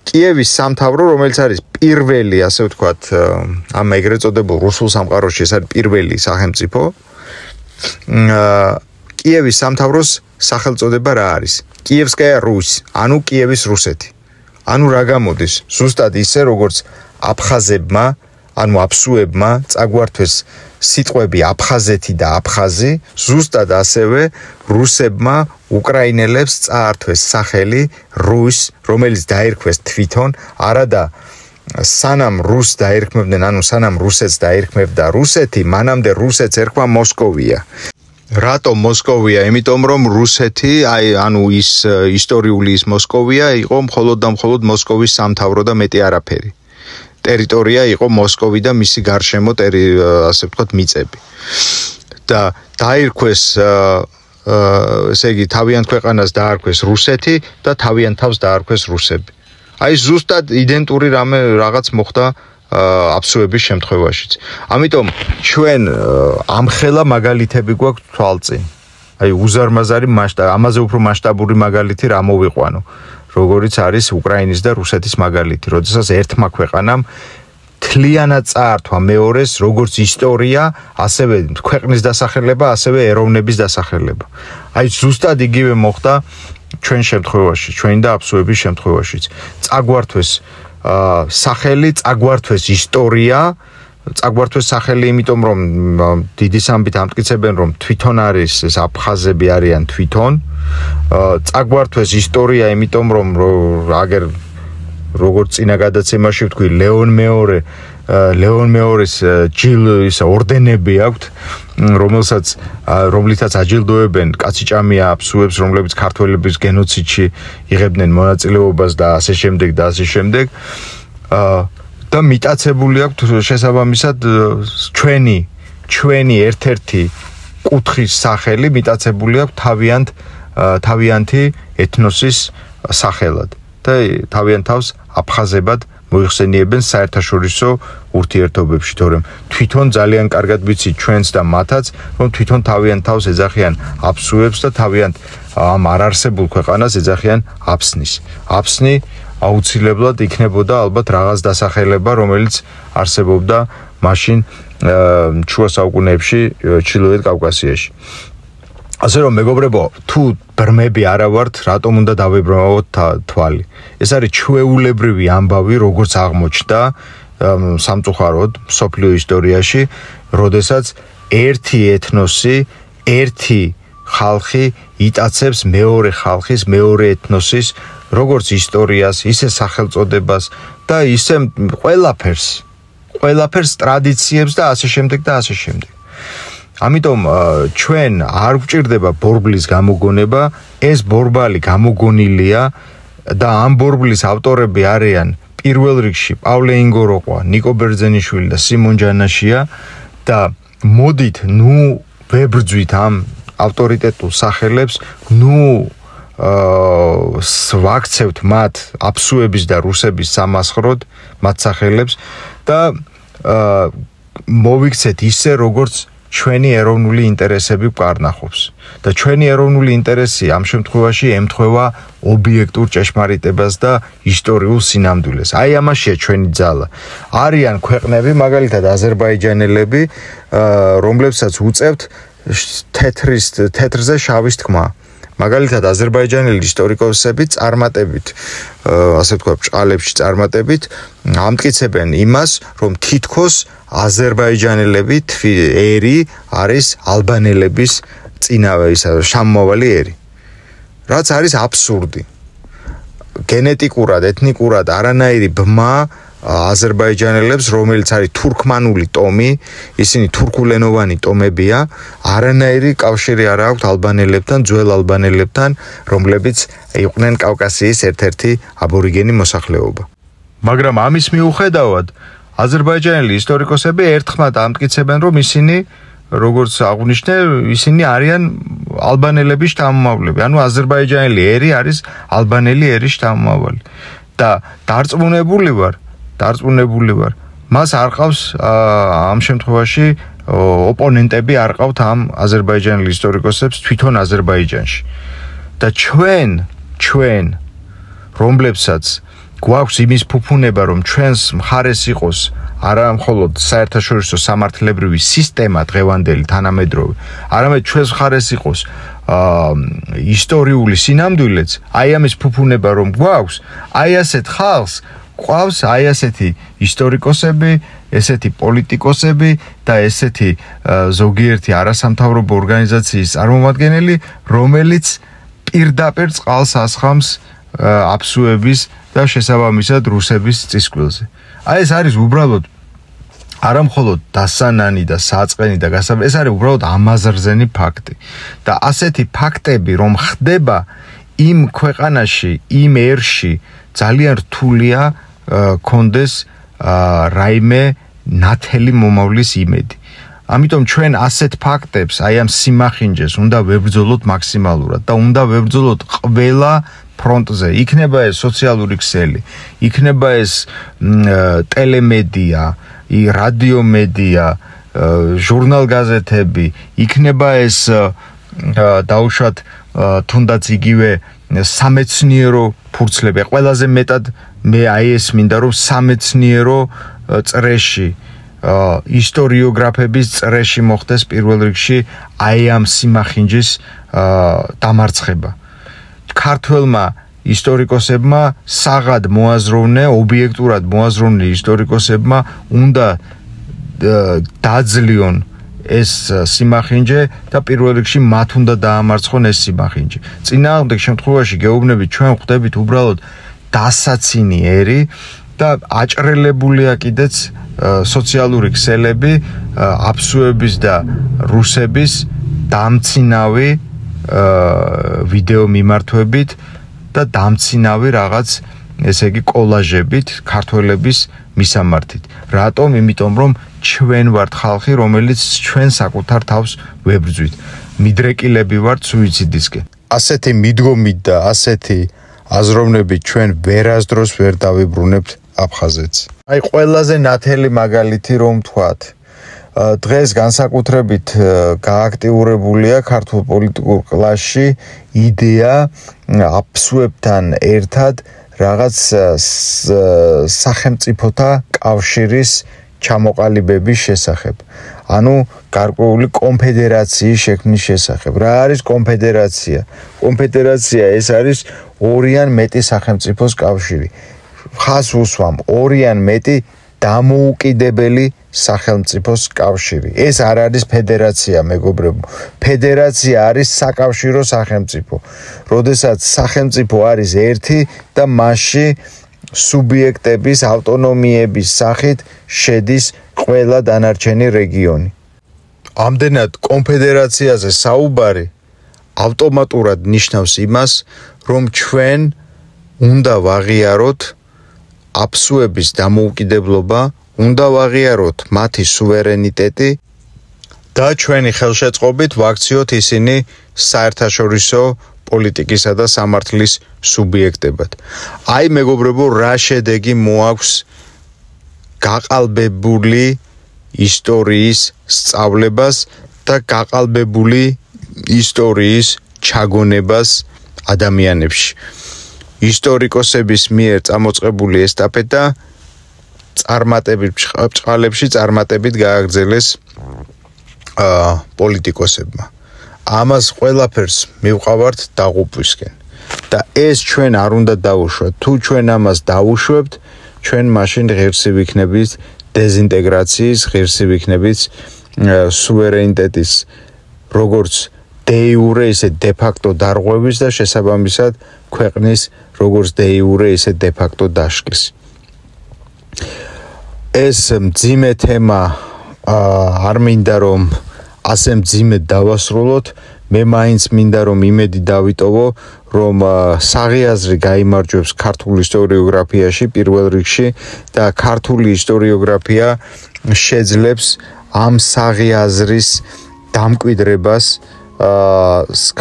კიევის სამთავრო, რომელიც არის პირველი, ასე ვთქვათ, ამ ეგრეთ წოდებულ რუსულ სამყაროში, ეს არის პირველი სახელმწიფო. კიევის სამთავროს სახელწოდება რა არის? კიევსკაია რუსი, ანუ კიევის რუსეთი. ანუ რა გამოდის? ზუსტად ისე, როგორც აფხაზებმა, ანუ აფსუებმა წაგვართვეს სიტყვები აფხაზეთი და აფხაზი, ზუსტად ასევე რუსებმა უკრაინელებს წაართვეს სახელი რუს, რომელიც დაირქვეს თვითონ, არადა სანამ რუს დაირქმევდნენ, ანუ სანამ რუსეთს დაირქმევდა რუსეთი, მანამდე რუსეთს ერქვა მოსკოვია. რატომ მოსკოვია? იმიტომ რომ რუსეთი, ანუ ის ისტორიული ის მოსკოვია იყო მხოლოდ და მხოლოდ მოსკოვის სამთავრო და მეტი არაფერი. ტერიტორია იყო მოსკოვი და მისი გარშემო ასე ვთქვათ მიწები. და დაირქვეს ესე იგი თავიანთ ქვეყანას დაარქვეს რუსეთი და თავიანთ თავს დაარქვეს რუსები. აი ზუსტად იდენტური რაღაც მოხდა აფსუების შემთხვევაშიც. ამიტომ ჩვენ ამხელა მაგალითები გვაქვს თვალწინ. აი უზარმაზარი მასშტაბი, ამაზე უფრო მასშტაბური მაგალითი რა მოვიყვანო. როგორიც არის უკრაინის და რუსეთის მაგალითი, როდესაც ერთმა ქვეყანამ თლიანად წაართვა მეორეს როგორც ისტორია, ასევე ქვეყნის დასახელება, ასევე ეროვნების დასახელება. აი ზუსტად იგივე მოხდა ჩვენ შემთხვევაში, ჩვენი და აფსუების შემთხვევაშიც. წაგვართვეს სახელი, წაგვართვეს ისტორია წაგვართვეს სახელი, იმიტომ რომ დიდი სამბით ამტკიცებენ, რომ თვითონ არის ეს აფხაზები არიან თვითონ. წაგვართვეს ისტორია, იმიტომ რომ აგერ როგორც წინა გადაცემაში ვთქვი, ლეონ მეორის ჯილდოს ორდენები აქვთ, რომლითაც აჯილდოებენ კაციჭამია აფსუებს, რომლებიც ქართველების გენოციდში იღებდნენ მონაწილეობას და ასე შემდეგ და ასე შემდეგ. და მიტაცებული აქვთ შესაბამისად ჩვენი ერთ-ერთი კუთხის სახელი მიტაცებული აქვთ თავიანთი ეთნოსის სახელად და თავიანთ თავს აფხაზებად მოიხსენიებენ საერთაშორისო ურთიერთობებში, თორემ თვითონ ძალიან კარგად ვიცით ჩვენც და მათაც, რომ თვითონ თავიანთ თავს ეძახიან აფსუებს და თავიანთ ამ არარსებულ ქვეყანას ეძახიან აფსნის. აფსნი აუცილებლად იქნებოდა ალბათ რაღაც დასახელება, რომელიც არსებობდა მაშინ შუა საუკუნეებში ჩრდილოეთ კავკასიაში. ასე რომ მეგობრებო, თუ ბრმები არა ვართ, რატომ უნდა დავებრმავოთ თვალი? ეს არის ჩვეულებრივი ამბავი, როგორც აღმოჩნდა სამწუხაროდ მსოფლიო ისტორიაში, როდესაც ერთი ეთნოსი, ერთი ხალხი იტაცებს მეორე ხალხის, მეორე ეთნოსის როგორც ისტორიას, ისე სახელწოდებას და ისე ყველაფერს ტრადიციებს და ასე შემდეგ და ასე შემდეგ. ამიტომ ჩვენ არ გვჭირდება ბორბლის გამოგონება, ეს ბორბალი გამოგონილია და ამ ბორბლის ავტორები არიან პირველ რიგში პავლე ინგოროყვა, ნიკო ბერძენიშვილი და სიმონ ჯანაშია და მოდით ვებრძვით ამ ავტორიტეტულ სახელებს, ვაქცევთ მათ აფსუების და რუსების სამასხროდ მათ სახელებს და მოვიქცეთ ისე, როგორც ჩვენი ეროვნული ინტერესები გვკარნახობს და ჩვენი ეროვნული ინტერესი ამ შემთხვევაში ემთხვევა ობიექტურ ჭეშმარიტებას და ისტორიულ სინამდვილეს. აი ამაშია ჩვენი ძალა. არიან ქვეყნები, მაგალითად აზერბაიჯანელები, რომლებსაც უწევთ თეთრზე შავის თქმა. მაგალითად აზერბაიჯანელი ისტორიკოსები წარმატებით, ასე ვთქვათ, ბრჭყალებში წარმატებით ამტკიცებენ იმას, რომ თითქოს აზერბაიჯანელები ერი არის ალბანელების შამომავალი ერი. რაც არის აბსურდი. გენეტიკურად, ეთნიკურად არანაირი ბმა აზერბაიჯანელებს, რომელიც არის თურქმანული ტომი, ისინი თურქულენოვანი ტომებია, არანაირი კავშირი არ აქვთ ალბანელებთან, ძველ ალბანელებთან, რომლებიც იყვნენ კავკასიის ერთ-ერთი აბორიგენი მოსახლეობა. მაგრამ ამის მიუხედავად, აზერბაიჯანელი ისტორიკოსები ერთხმად ამტკიცებენ, რომ ისინი, როგორც აღვნიშნე, ისინი არიან ალბანელების შთამომავლები. ანუ აზერბაიჯანელი ერი არის ალბანელი ერის შთამომავალი. და დარწმუნებული ვარ, მას არ ყავს ამ შემთხვევაში ოპონენტები არ ყავთ ამ აზერბაიჯანელ ისტორიკოსებს თვითონ აზერბაიჯანში. და ჩვენ რომლებსაც გვაქვს იმის ფუფუნება, რომ ჩვენს მხარეს იყოს არა მხოლოდ საერთაშორისო სამართლებრივი სისტემა დღევანდელი თანამედროვე, არამედ ჩვენს მხარეს იყოს ისტორიული სინამდვილეც, აი ამის ფუფუნება რომ გვაქვს, აი ასეთ ხალხს ყავს აი ასეთი ისტორიკოსები, ესეთი პოლიტიკოსები და ესეთი ზოგიერთი არასამთავრობო ორგანიზაციის წარმომადგენელი, რომელიც პირდაპირ წყალს ასხამს აფსუების და შესაბამისად რუსების წისქვილზე. აი ეს არის უბრალოდ არა მხოლოდ დასანანი და საწყენი და ეს არის უბრალოდ ამაზრზენი ფაქტი. და ასეთი ფაქტები რომ ხდება იმ ქვეყანაში, იმ ერში ძალიან რთულია კონდეს რაიმე ნათელი მომავლის იმედი. ამიტომ ჩვენ ასეთ ფაქტებს, აი ამ სიმახინჯეს უნდა ვებრძოლოთ მაქსიმალურად და უნდა ვებრძოლოთ ყველა ფრონტზე. იქნება ეს სოციალური ქსელი, იქნება ეს ტელემედია, რადიომედია, ჟურნალ-გაზეთები, იქნება ეს დაუშვათ თუნდაც იგივე სამეცნიერო ფურცლები. ყველაზე მეტად მე აი ეს მინდა რომ სამეცნიერო წრეში ისტორიოგრაფების წრეში მოხდეს პირველ რიგში აი ამ სიმახინჯის დამარცხება. ქართველმა ისტორიკოსებმა საღად მოაზროვნე, ობიექტურად მოაზროვნე ისტორიკოსებმა უნდა დაძლიონ ეს სიმახინჯე და პირველ რიგში მათ უნდა დაამარცხონ ეს სიმახინჯე. წინააღმდეგ შემთხვევაში გეუბნები ჩვენ ხვდებით უბრალოდ დასაცინიერი და აჭრელებულია კიდეც სოციალური ქსელები აფსუების და რუსების დამცინავი ვიდეო მიმართვებით და დამცინავი რაღაც ესე იგი კოლაჟებით ქართველების მისამართით. რატომ? იმიტომ რომ ჩვენ ვართ ხალხი, რომელიც ჩვენ საკუთარ თავს ვებრძვით. მიდრეკილები ვართ სუიციდისკენ. ასეთი მიდგომით და ასეთი აზროვნებით ჩვენ ვერასდროს ვერ დავიბრუნებთ აფხაზეთს. აი ყველაზე ნათელი მაგალითი რომ ვთქვათ. დღეს განსაკუთრებით გააქტიურებულია ქართულ პოლიტიკურ კლასში იდეა აფსუებთან ერთად რაღაც სახელმწიფოთა კავშირის ჩამოყალიბების შესახებ. ანუ გარკვეული კონფედერაციის შექმნის შესახებ. რა არის კონფედერაცია? კონფედერაცია ეს არის ორი ან მეტი სახელმწიფოს კავშირი. ხას უსვამ ორი ან მეტი დამოუკიდებელი სახელმწიფოს კავშირი. ეს არ არის ფედერაცია, მეგობრებო. ფედერაცია არის საკავშირო სახელმწიფო. როდესაც სახელმწიფო არის ერთი და მასში სუბიექტების ავტონომიების სახით შედის ყველა დანარჩენი რეგიონი. ამდენად კონფედერაციაზე საუბარი ავტომატურად ნიშნავს იმას, რომ ჩვენ უნდა ვაღიაროთ აფსუების დამოუკიდებლობა, უნდა ვაღიაროთ მათი სუვერენიტეტი და ჩვენი ხელშეწყობით ვაქციოთ ისინი საერთაშორისო პოლიტიკისა და სამართლის სუბიექტებად. აი მეგობრებო, რა შედეგი მოაქვს გაყალბებული ისტორიის სწავლებას და გაყალბებული ისტორიის ჩაგონებას ადამიანებში. ისტორიკოსების მიერ წამოწყებული ესტაფეტა ბჭყალებში წარმატებით გააგრძელეს პოლიტიკოსებმა. ამას ყველაფერს მივყავართ დაღუპვისკენ. და ეს ჩვენ არ უნდა დავუშვათ. თუ ჩვენ ამას დავუშვებთ, ჩვენ მაშინ ღირსი ვიქნებით დეზინტეგრაციის, ღირსი ვიქნებით სუვერენიტეტის როგორც de jure, ისე de facto დარღვევის და შესაბამისად ქვეყნის როგორც de jure, ისე de facto დაშლის. ეს მძიმე თემა არ მინდა რომ ასე მძიმედ დავასრულოთ. მე მაინც მინდა რომ იმედი დავიტოვო, რომ საღიაზრი გაიმარჯვებს ქართულ ისტორიოგრაფიაში პირველ რიგში და ქართული ისტორიოგრაფია შეძლებს ამ საღიაზრის დამკვიდრებას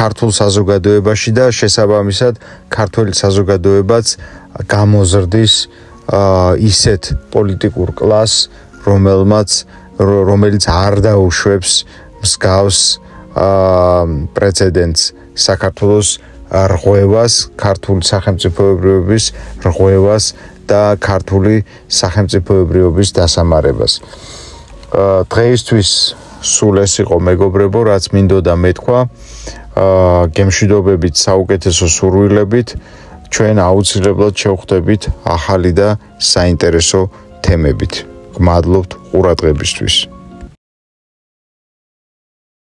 ქართულ საზოგადოებაში და შესაბამისად ქართული საზოგადოებაც გამოზრდის ისეთ პოლიტიკურ კლასს, რომელიც არ დაუშვებს მსგავს პრეცედენტს საქართველოს რღვევას, ქართული სახელმწიფოებრიობის რღვევას და ქართული სახელმწიფოებრიობის დასამარებას. დღეისთვის სულ ეს იყო მეგობრებო, რაც მინდოდა მეთქვა. გემშვიდობებით, საუკეთესო სურვილებით, ჩვენ აუცილებლად შევხვდებით ახალი და საინტერესო თემებით. გმადლობთ ყურადღებისთვის.